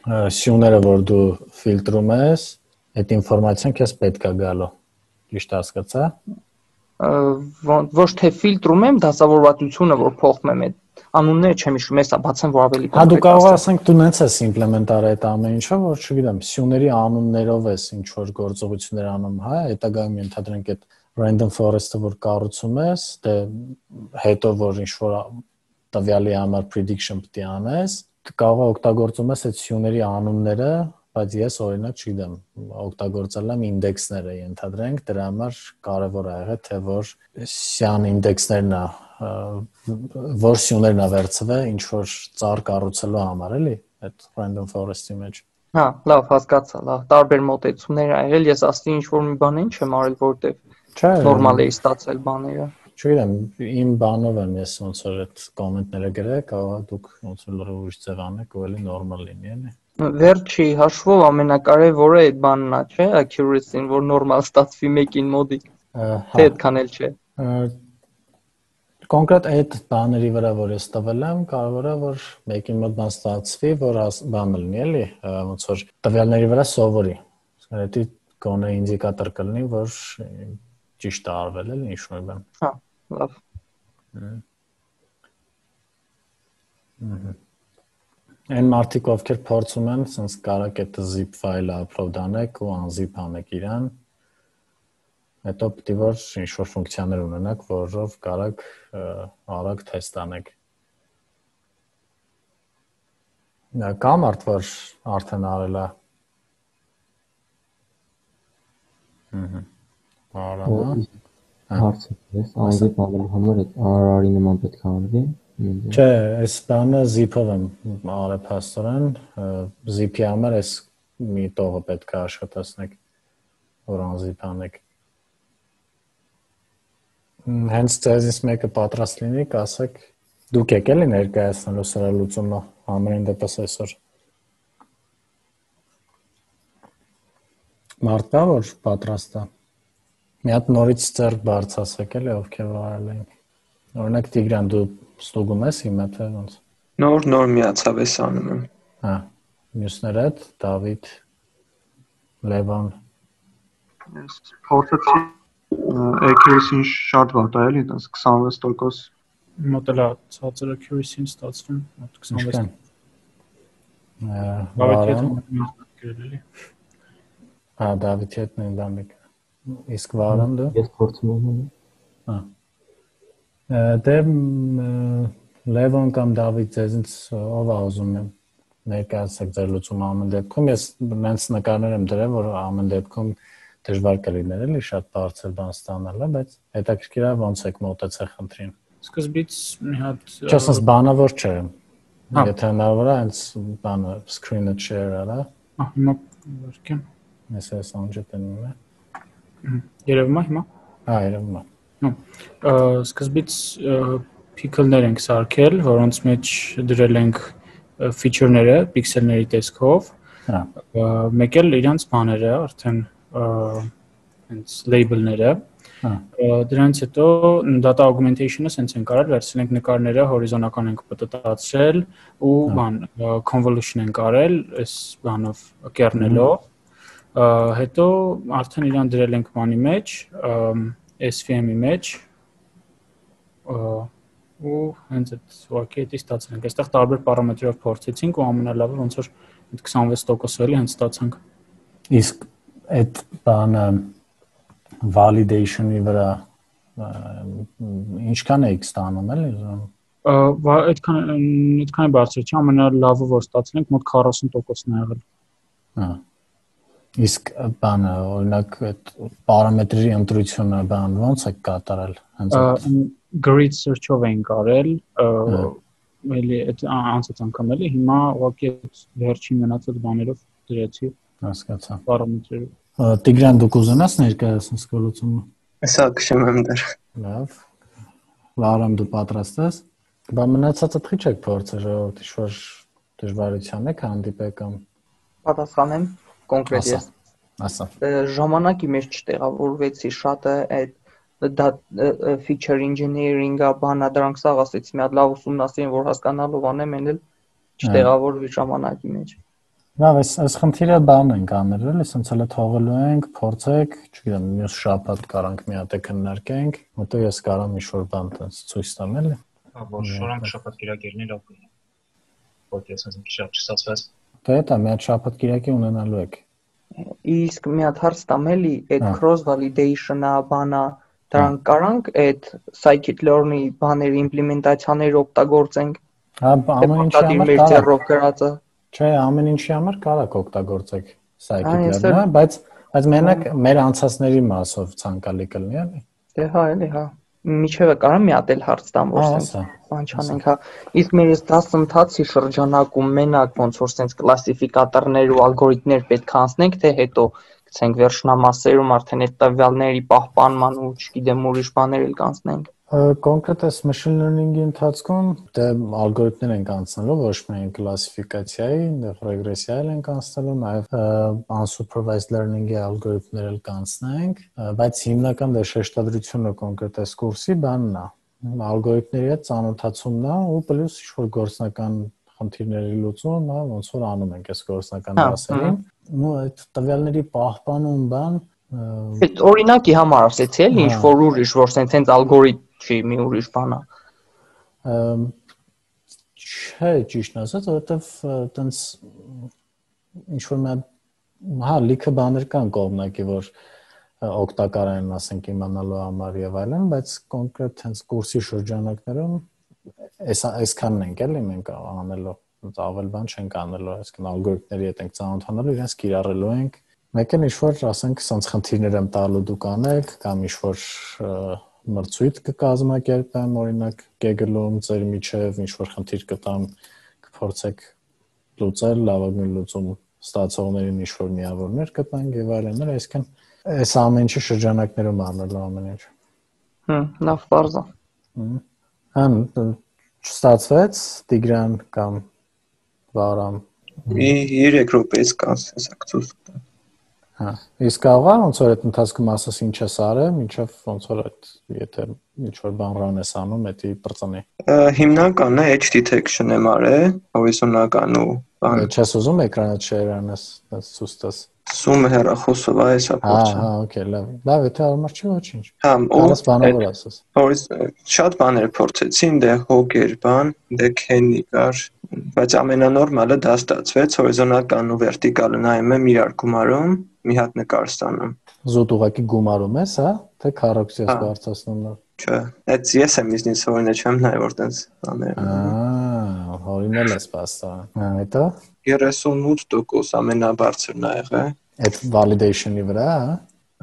սյուները որ դու ֆիլտրում ես, այդ ինֆորմացիան քեզ պետք է գալու։ Ճիշտ հասկացա։ Ոչ թե ֆիլտրում եմ, դասավորվածությունը որ փոխում եմ այդ անունները չեմ հիշում, հեսա բացեմ որ ավելի կոնկրետ։ Հա դու կարող ասենք դու նենց ես իմպլեմենտ արել այդ ամեն ինչը, որ չգիտեմ, սյուների անուններով ես ինչ որ գործողություններ անում, հա, հետագայում ենթադրենք այդ random forest-ը որ կառուցում ես, դե հետո որ ինչ որ տվյալի համար prediction պետք է անես, կարող է օգտագործում ես այդ սյուների անունները, բայց ես օրինակ չգիտեմ, օգտագործել եմ ինդեքսները ենթադրենք, դրա համար կարևոր է եղել թե որ սյան ինդեքսներն է, որ սյուներն է վերցվել ինչ որ ծառ կառուցելու համար, էլի, այդ random forest-ի մեջ։ Հա, լավ, հասկացա, լավ, տարբեր մոտեցումներ ա եղել, ես ասի ինչ որ մի բան ինչ եմ արել, որտեվ նորմալ է ստացել բաները։ Չգիտեմ, իմ բանով եմ ես ոնց որ այդ կոմենտները գրել, կարող է դուք ոնց որ լրիվ ուրիշ ձև անեք ու էլի նորմալ լինի, էլի։ Վերջի հաշվով ամենակարևորը այդ բանն է, չէ՞, accuracy-ն, որ նորմալ ստացվի մեկին մոդիկ։ Թե այդքան էլ չէ։ կոնկրետ այդ բաների վրա որ ես տվել եմ, կարող է որ մեկին մոտ բան ստացվի, որ բան լինի, էլի, ոնց որ տվյալների վրա սովորի։ Դա գոնե ինդիկատոր կլինի, որ ճիշտ է արվել, էլի, ինչ-որ բան։ Հա, լավ։ Այն մարդիկ, ովքեր փորձում են, sense կարակ այդ zip file-ը upload անեք ու unzip անեք իրան, հետո պետք է որ ինչ-որ ֆունկցիաներ ունենաք, որով կարակ արագ թեստ անեք։ Դա կա մարդ, որ արդեն արել է։ Ահա։ Արամա։ Հարցը ես unzip անելու համար այդ R R-ի նման պետք է արվի։ Չէ, այս բանը zip-ով եմ արել փաստորեն, zip-ի համար այս մի տողը պետք է աշխատացնեք, որ unzip անեք։ Հենց ձեզից մեկը պատրաստ լինի, կասեք, դուք եք էլի ներկայացնելու սրա լուծումը համենայն դեպս այսօր։ Մարդ կա, որ պատրաստ է։ Մի հատ նորից ձեռք բարձրացրեք էլի, ովքեր վարել են։ Օրինակ Տիգրան, դու ստուգում ես հիմա թե ոնց։ Նոր նոր միացավ ես անում եմ։ Հա, մյուսները հետ Դավիթ, Լևոն։ Ես փորձեցի accuracy-ն շատ վատ է, էլի, դες քսանվեց տոկոս մոտելա ցածր accuracy-ն ստացվում, մոտ քսանվեց։ Վարան։ Հա, Դավիթի հետ նույն բանը։ Իսկ Վարան դու։ Ես փորձում եմ։ Հա։ Դե Լևոն կամ Դավիթ ձեզից ով է ուզում եմ ներկայացեք ձեր լուծումը ամեն դեպքում ես նենց նկարներ եմ դրել որ ամեն դեպքում դժվար կլիներ էլի շատ բարձր բան ստանալը բայց հետաքրքիր է ոնց եք մոտեցել խնդրին սկզբից մի հատ չասես բանավոր չէ եթե հնարավոր է հենց բանը screen-ը share արա հա հիմա վարկեմ ես այս անջատնում եմ երևում է հիմա հա երևում է Սկզբից pickle-ներ ենք սարքել, որոնց մեջ դրել ենք feature-ները պիքսելների տեսքով, մեկ էլ իրանց բաները, արդեն հենց label-ները, դրանից հետո data augmentation-ը սենց ենք արել, վերցրել ենք նկարները, հորիզոնական ենք պտտացրել ու բան convolution ենք արել, այս բանով կեռնելով, հետո արդեն իրան դրել ենք բանի մեջ, S V M-ի մեջ ու հենց այդ ուղղակի էդի ստացել ենք։ Այստեղ տարբեր պարամետրերով փորձեցինք ու ամենալավը ոնց որ այդ քսանվեց տոկոս էլի հենց ստացանք։ Իսկ այդ բանը validation-ի վրա ինչքան եք ստանում էլի ուզում։ Այդքան այդքան է բարձր չէ, ամենալավը որ ստացել ենք մոտ քառասուն տոկոսն է եղել։ Հա Իսկ բանը օրինակ այդ պարամետրերի ընտրությունը բան ոնց է կատարել հենց այդ grid search-ով ենք արել էլի այդ անցած անգամ էլի հիմա ուղղակի այդ վերջին մնացած բաներով դրեցի հասկացա պարամետրերը Տիգրան դուք ուզենաս ներկայացնես գոլուցումը Հեսա քշում եմ դեռ Լավ Վարամ դու պատրաստ ես Բա մնացածը թիչ եք փորձել ժողովուրդ ինչ-որ դժվարության եք հանդիպել կամ Պատասխանեմ կոնկրետ ես ասա ժամանակի մեջ չտեղավորվեցի շատը այդ feature engineering-ը բանա դրանք սաղ ասեցի մի հատ լավ ուսումնասիրեմ որ հասկանալով անեմ են էլ չտեղավորվի ժամանակի մեջ Լավ էս այս խնդիրը բան ենք անել էլի ասենց հələ թողելու ենք փորձեք չգիտեմ մյուս շաբաթ կարանք մի հատ քննարկենք հետո ես կարամ ինչ-որ բան ցույց տամ էլի Հա որ շորանք շաբաթ կիրակերնի լավ կլինի Որտե ասես մի շատ չստացվեց Դե դա մի հատ շաբաթ կիրակի ունենալու եք Իսկ մի հատ հարց տամ էլի այդ cross validation-ը բանա դրանք կարանք այդ scikit-learn-ի բաների իմպլեմենտացիաները օգտագործենք Հա ամեն ինչի համար ձեռով գրածը Չէ ամեն ինչի համար կարակ օգտագործեք scikit-learn-ը բայց բայց մենակ մեր անցածների մասով ցանկալի կլինի էլի Դե հա էլի հա Միջևը կարամ մի հատ էլ հարց տամ որ սենց բան չանենք հա իսկ մեր այս դասընթացի շրջանակում մենակ ոնց որ սենց կլասիֆիկատորներ ու ալգորիթմներ պետք է անցնենք թե հետո գցենք վերջնամասերում արդեն այդ տվյալների պահպանման ու չգիտեմ ուրիշ բաներ էլ կանցնենք Կոնկրետ այս machine learning-ի ընթացքում դե ալգորիթմներ ենք անցնելու, ոչ միայն կլասիֆիկացիայի, դեռ ռեգրեսիա ենք անցնելու, նաև unsupervised learning-ի ալգորիթմներ էլ կանցնենք, բայց հիմնական դե շեշտադրությունը կոնկրետ այս կուրսի բանն է, ալգորիթմների հետ ծանոթացումն է ու պլյուս ինչ-որ գործնական խնդիրների լուծումն է, ոնց որ անում ենք այս գործնական դասերին։ Ու այդ տվյալների պահպանում բան Այդ օրինակի համար ասեցի էլի ինչ որ ուրիշ որ սենց ալգորիթմ չի մի ուրիշ բան է։ Չէ, ճիշտ ասած, որովհետև տենց ինչ որ մի հա լիքը բաներ կան կողմնակի, որ օգտակար են, ասենք, իմանալու համար եւ այլն, բայց կոնկրետ հենց կուրսի շրջանակներում այս այսքանն ենք էլի մենք անելու, ավել բան չենք անելու, այսինքն ալգորիթմների հետ ենք ծանոթանալու, իրենց կիրառելու ենք։ Մեկ էլ ինչ-որ, ասենք, սենց խնդիրներ եմ տալու դուք անեք, կամ ինչ-որ մրցույթ կկազմակերպեմ, օրինակ, Google-ում ձեր միջև ինչ-որ խնդիր կտամ, կփորձեք լուծել, լավագույն լուծում ստացողներին ինչ-որ միավորներ կտանք եւ այլն, այսինքն այս ամեն ինչի շրջանակներում անելու ամեն ինչ։ Հմ, լավ բարձ է։ Հմ, չստացվեց Տիգրան կամ Վարամ։ երեք րոպեից կանցնես Հա, իսկ կարող է ոնց որ այդ ընթացքում ասես ինչ ես արել, մինչև ոնց որ այդ եթե ինչ-որ բան run ես անում, դա բրծնի։ Հիմնականը edge detection եմ արել, հորիզոնական ու բան։ Չես ուզում էկրանդ share անես, ցույց տաս։ Zoom հեռախոսով է հեսա փորձը։ Հա, օքեյ, լավ։ Լավ, եթե արմար չի ոչինչ։ Հա, ու բանավոր ասես։ Հորից շատ բաներ փորձեցին, դե հոգեր բան, դե քենի կար, բայց ամենանորմալը դա ստացվեց, հորիզոնական ու վերտիկալը նայում եմ իրար գումարում, մի հատ նկար ստանում։ Զուտ ուղակի գումարում ես, հա, թե քառակուսի ես բարձրացնում նոր։ Չէ, այդ ես եմ իզնից հորինը չեմ նայ որ տենց բաներ։ Ահա, հորինել ես պաստա։ Հա, հետո երեսունութ տոկոս ամենաբարձրն ա եղել։ Այդ validation-ի վրա, հա։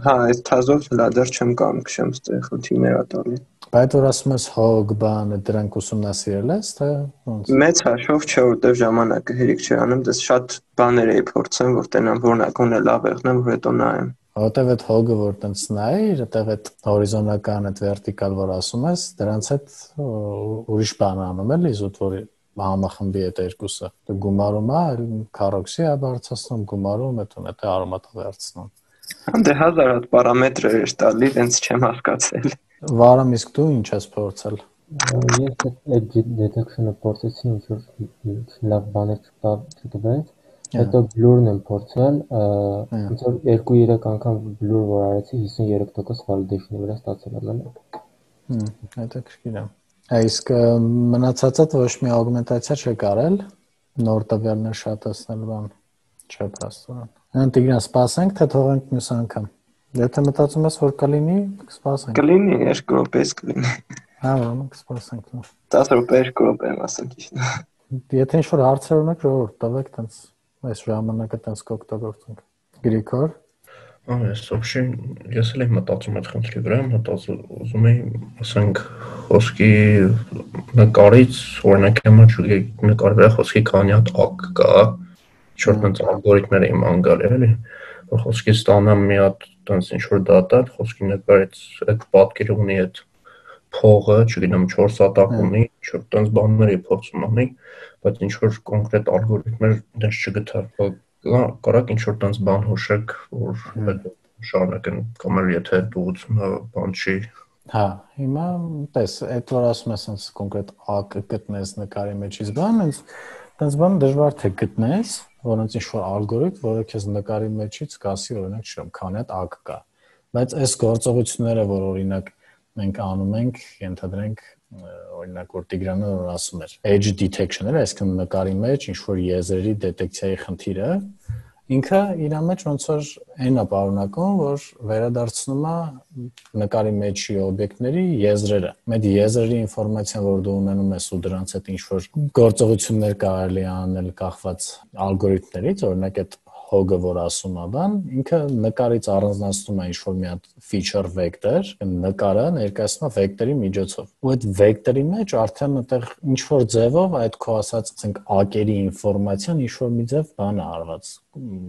Հա, այս թազով լադեր չեմ կամ քշեմ ստեղ խնդիրներ ա տալի։ Բայց որ ասում ես հոգ բանը դրանք ուսումնասիրել ես, թե ոնց։ Մեծ հաշվով չէ, որտեվ ժամանակը հերիք չի անում, դες շատ բաներ էի փորձեմ, որ տենամ որնակոնը լավ եղնեմ, որ հետո նայեմ։ Որտեվ այդ հոգը որ տենց նայ, այդտեղ այդ հորիզոնական, այդ վերտիկալ որ ասում ես, դրանց հետ ուրիշ բան անում էլի, զուտ որ համախմբի այդ երկուսը։ Դու գումարում ա, քառակուսի ա բարձրացնում, գումարում, հետո հետո արոմատը վերցնում։ Դե հազար հատ պարամետրեր էր տալի, դենց չեմ հասկացել։ Վարամ, իսկ դու ինչ ես փորձել։ Ես այդ detection-ը փորձեցի, ինչ որ լավ բաներ չտվեց։ Հետո blur-ն եմ փորձել, ոնց որ երկու-երեք անգամ blur որ արեցի, հիսուններեք տոկոս validation-ի վրա ստացել եմ էլի։ Հմ, հետաքրքիր է։ Իսկ մնացածը ոչ մի augmentation չեք արել, նոր տվյալներ շատացնել բան չէ փաստորեն։ Այն Տիգրան, սպասենք, թե թողենք մյուս անգամ։ Եթե մտածում ես որ կլինի, կսպասենք։ Կլինի, երկու րոպեից կլինի։ Հա, ուրեմն կսպասենք։ տասը րոպե, երկու րոպե եմ ասում ճիշտ։ Եթե ինչ-որ հարցեր ունեք, ժողովուրդ, տվեք, տենց այս ժամանակը տենց կօգտագործենք։ Գրիգոր։ Այս вообще ես էլ եմ մտածում այդ խնդրի վրա, մտածում ուզում եմ, ասենք, խոսքի նկարից, օրինակ հիմա նկարի վրա խոսքի քանի հատ ակ կա, ինչ-որ տենց ալգորիթմներ եմ անգալ էլի, որ խոսքի ստանամ մի հատ տենց ինչ-որ դատա, խոսքի նկարից այդ պատկերը ունի այդ փողը, չգիտեմ, չորս հատակ ունի, ինչ-որ տենց բաներ եմ փորձում անել, բայց ինչ-որ կոնկրետ ալգորիթմներ դες չգտա, կարակ ինչ-որ տենց բան հուշեք, որ հետո շարունակեն, կամ էլ եթե դուղությունը բան չի։ Հա, հիմա տես, այդ որ ասում ես այնց կոնկրետ ակը գտնես նկարի մեջից բան, այնց տենց բան դժվար թե գտնես, որոնց ինչ-որ ալգորիթմ, որը քեզ նկարի մեջից կասի, օրինակ, չեմ, քանի հատ ակ կա։ Բայց այս գործողությունները, որ օրինակ մենք անում ենք, ենթադրենք, օրինակ որ Տիգրանը որ ասում էր, edge detection-ը, այսինքն նկարի մեջ ինչ-որ եզրերի դետեկցիայի խնդիրը, ինքը իր մեջ ոնց որ այն է պարունակում, որ վերադարձնում է նկարի մեջի օբյեկտների եզրերը։ Այդ եզրերի ինֆորմացիան, որ դու ունենում ես ու դրանց հետ ինչ-որ գործողություններ կարելի անել կախված ալգորիթմներից, օրինակ այդ հոգը որ ասում է բան, ինքը նկարից առանձնացնում է ինչ-որ մի հատ feature vector, նկարը ներկայացնում է vector-ի միջոցով։ Ու այդ vector-ի մեջ արդեն այդտեղ ինչ-որ ձևով այդ քո ասած, ասենք, ակերի ինֆորմացիան ինչ-որ մի ձև բան է արված,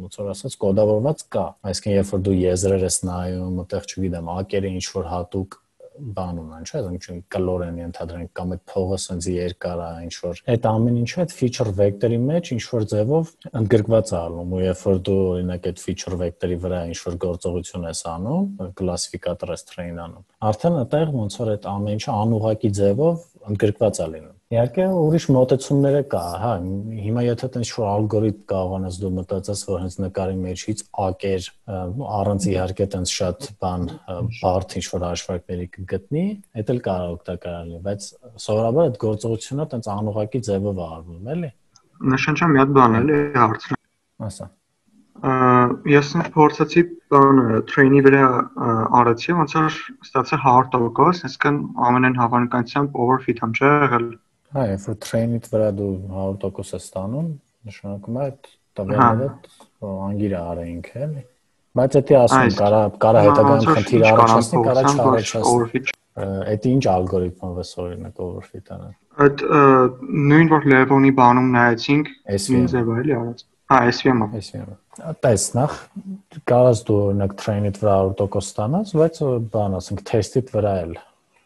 ոնց որ ասած կոդավորված կա։ Այսինքն երբ որ դու եզրեր ես նայում, այդտեղ չգիտեմ, ակերը ինչ-որ հատուկ բան ունեն, չէ՞, այսինքն կլոր են ենթադրենք կամ այդ փողը sense երկար է, ինչ որ այդ ամեն ինչը այդ feature vector-ի մեջ ինչ որ ձևով ընդգրկված է ալնում, ու երբ որ դու օրինակ այդ feature vector-ի վրա ինչ որ գործողություն ես անում, կլասիֆիկատոր ես train անում, արդեն այդտեղ ոնց որ այդ ամեն ինչը անուղղակի ձևով ընդգրկված է լինում։ Իհարկե ուրիշ մոտեցումներ կա, հա, հիմա եթե տենց ինչ-որ ալգորիթմ կարողանաս դու մտածես, որ հենց նկարի մեջից ակեր առանց իհարկե տենց շատ բան բարդ ինչ-որ հաշվարկների կգտնի, դա էլ կարող օգտակար լինի, բայց սովորաբար այդ գործողությունը տենց անուղղակի ձևով է արվում, էլի։ Նշանչա մի հատ բան էլի հարցը։ Ասա։ Ես փորձեցի բանը train-ի վրա արեցի, ոնց որ ստացա հարյուր տոկոս, այսինքն ամենայն հավանականությամբ overfit եմ չէ եղել։ Հա, երբ որ train-ից վրա դու հարյուր տոկոս ես ստանում, նշանակում է այդ տվյալները անգիր արեինք, էլի։ Բայց դա ասում կարա կարա հետագայում խնդիր առաջացնի, կարա չառաջացնի։ Այդ ինչ ալգորիթմով է օրինակ overfit անել։ Այդ նույն որ level-ի բանում նայեցինք, նույն ձևը էլի արած։ Հա, S V M-ը։ S V M-ը։ Տես նախ կարաս դու օրինակ train-իդ վրա հարյուր տոկոս ստանաս, բայց բան ասենք test-իդ վրա էլ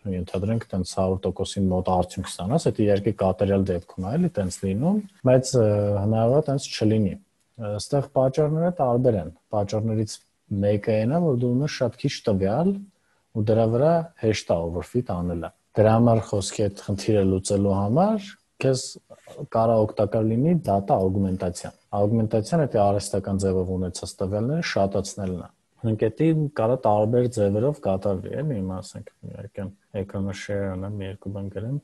ենթադրենք տենց հարյուր տոկոսի մոտ արդյունք ստանաս, դա իհարկե կատարյալ դեպքում է, էլի տենց լինում, բայց հնարավոր է տենց չլինի։ Այստեղ պատճառները տարբեր են։ Պատճառներից մեկը այն է, որ դու ունես շատ քիչ տվյալ ու դրա վրա հեշտ է overfit անելը։ Դրա համար խոսքի այդ խնդիրը լուծելու համար քեզ կարող օգտակար լինի data augmentation։ Augmentation դա արհեստական ձևով ունեցած տվյալները շատացնելն է։ Հնկետի կարա տարբեր ձևերով կատարվի, էլի, հիմա ասենք իհարկե էկրանը share անեմ, մի երկու բան գրեմ,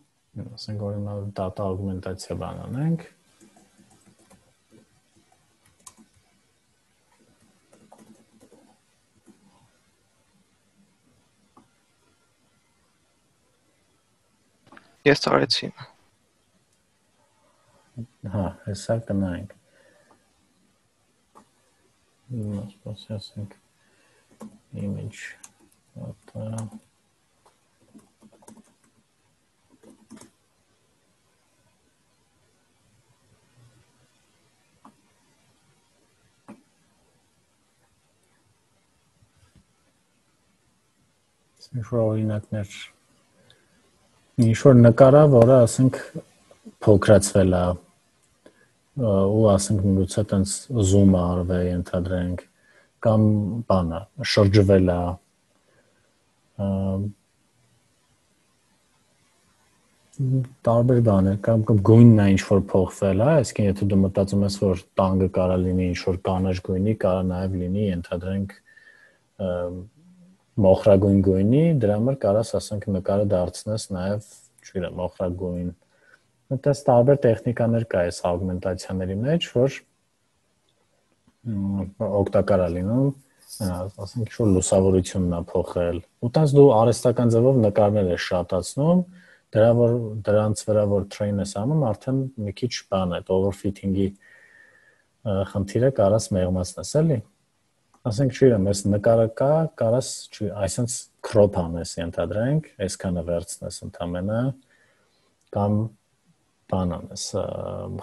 ասենք օրինակ data augmentation բան անենք։ Ես արեցի։ Հա, հեսա կնայենք։ Նոս ասենք image data Ինչ-որ օրինակներ ինչ-որ նկարա, որը ասենք փոքրացվել է ու ասենք միգուցե տենց zoom արվել ենթադրենք կամ բանը շրջվել է տարբեր բաներ կամ գույնն է ինչ-որ փոխվել է, այսինքն եթե դու մտածում ես, որ տանգը կարա լինի ինչ-որ կանաչ գույնի, կարա նաև լինի ենթադրենք մոխրագույն գույնի, դրա համար կարաս ասենք նկարը դարձնես նաև, չգիտեմ, մոխրագույն։ Այդպես տարբեր տեխնիկաներ կա այս augmentation-ների մեջ, որ օգտակար է լինում, ասենք ինչ-որ լուսավորությունն է փոխել։ Ու տես դու արհեստական ձևով նկարներ ես շատացնում, դրա որ դրանց վրա որ train ես անում, արդեն մի քիչ բան է, overfitting-ի խնդիրը կարաս մեղմացնես, էլի։ Ասենք չգիտեմ, ես նկարը կա, կարաս, այսինքն crop անես ենթադրենք, այսքանը վերցնես ընդամենը կամ բան անես,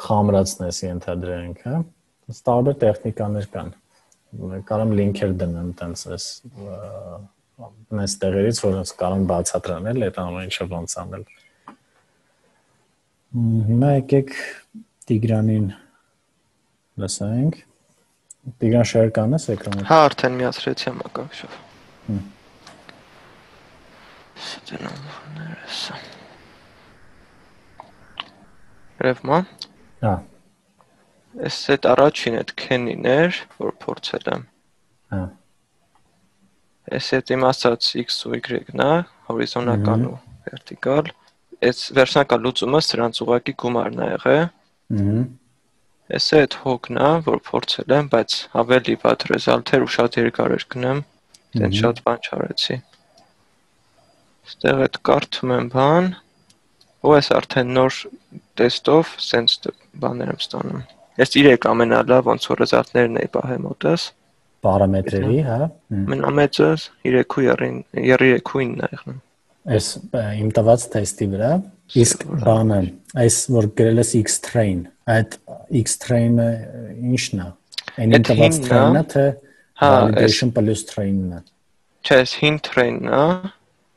խամրացնես ենթադրենք, հա։ Այս տարբեր տեխնիկաներ կան։ Կարամ լինքեր դնեմ տենց այս այս տեղերից, որոնց կարող բացատրել այդ ամեն ինչը ոնց անել։ Հիմա եկեք Տիգրանին լսենք։ Տիգրան share կանես էկրանը։ Հա, արդեն միացրեցի համակարգչով։ Ստենոմներս։ Ռևմա։ Հա։ Էս այդ առաջին այդ քենին էր, որ փորձել եմ։ Հա։ Էս այդ իմ ասած x ու y-ն է, հորիզոնական ու վերտիկալ։ Այս վերջնական լուծումը սրանց ուղղակի գումարն է եղել։ Ահա։ Էս այդ հոգն է, որ փորձել եմ, բայց ավելի վատ ռեզալթեր ու շատ երկար էր գնեմ, դեն շատ բան չարեցի։ Ստեղ այդ կարդում եմ բան, ու ես արդեն նոր տեստով սենց բաներ եմ ստանում։ Ես իրեք ամենալավ ոնց որ ռեզալթներն էի պահել մոտս։ Պարամետրերի, հա։ Ամենամեծը երեք ու ինը եղնում։ Այս իմ տված տեստի վրա, իսկ բանը, այս որ գրել ես X-train, այդ X-train-ը ի՞նչն է։ Այն իմ տված train-ը թե validation plus train-ն է։ Չէ, հին train-ն է,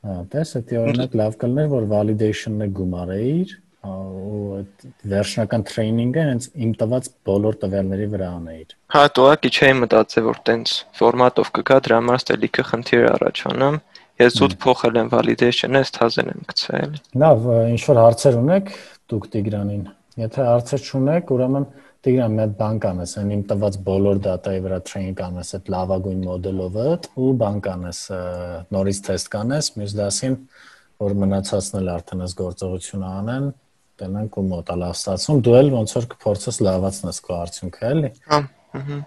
Հա, տես, դա օրինակ լավ կլներ, որ validation-ը գումարեիր, ու այդ վերջնական training-ը հենց իմ տված բոլոր տվյալների վրա անեիր։ Հա, տոակի չէի մտածել, որ տենց ֆորմատով կգա, դրա համար ստե լիքը խնդիր առաջանամ։ Ես զուտ փոխել եմ validation-ը, ստազեն եմ գցել։ Լավ, ինչ որ հարցեր ունեք, դուք Տիգրանին։ Եթե հարցեր չունեք, ուրեմն Տիգրան, մի հատ բան կանես, այն իմ տված բոլոր դատայի վրա train կանես այդ լավագույն մոդելով ու բան կանես, նորից թեստ կանես, մյուս դասին, որ մնացածն էլ արդեն այս գործողությունը անեն, տենանք ու մոտա լավ ստացվում, դու էլ ոնց որ կփորձես լավացնես քո արդյունքը, էլի։ Հա, ըհը։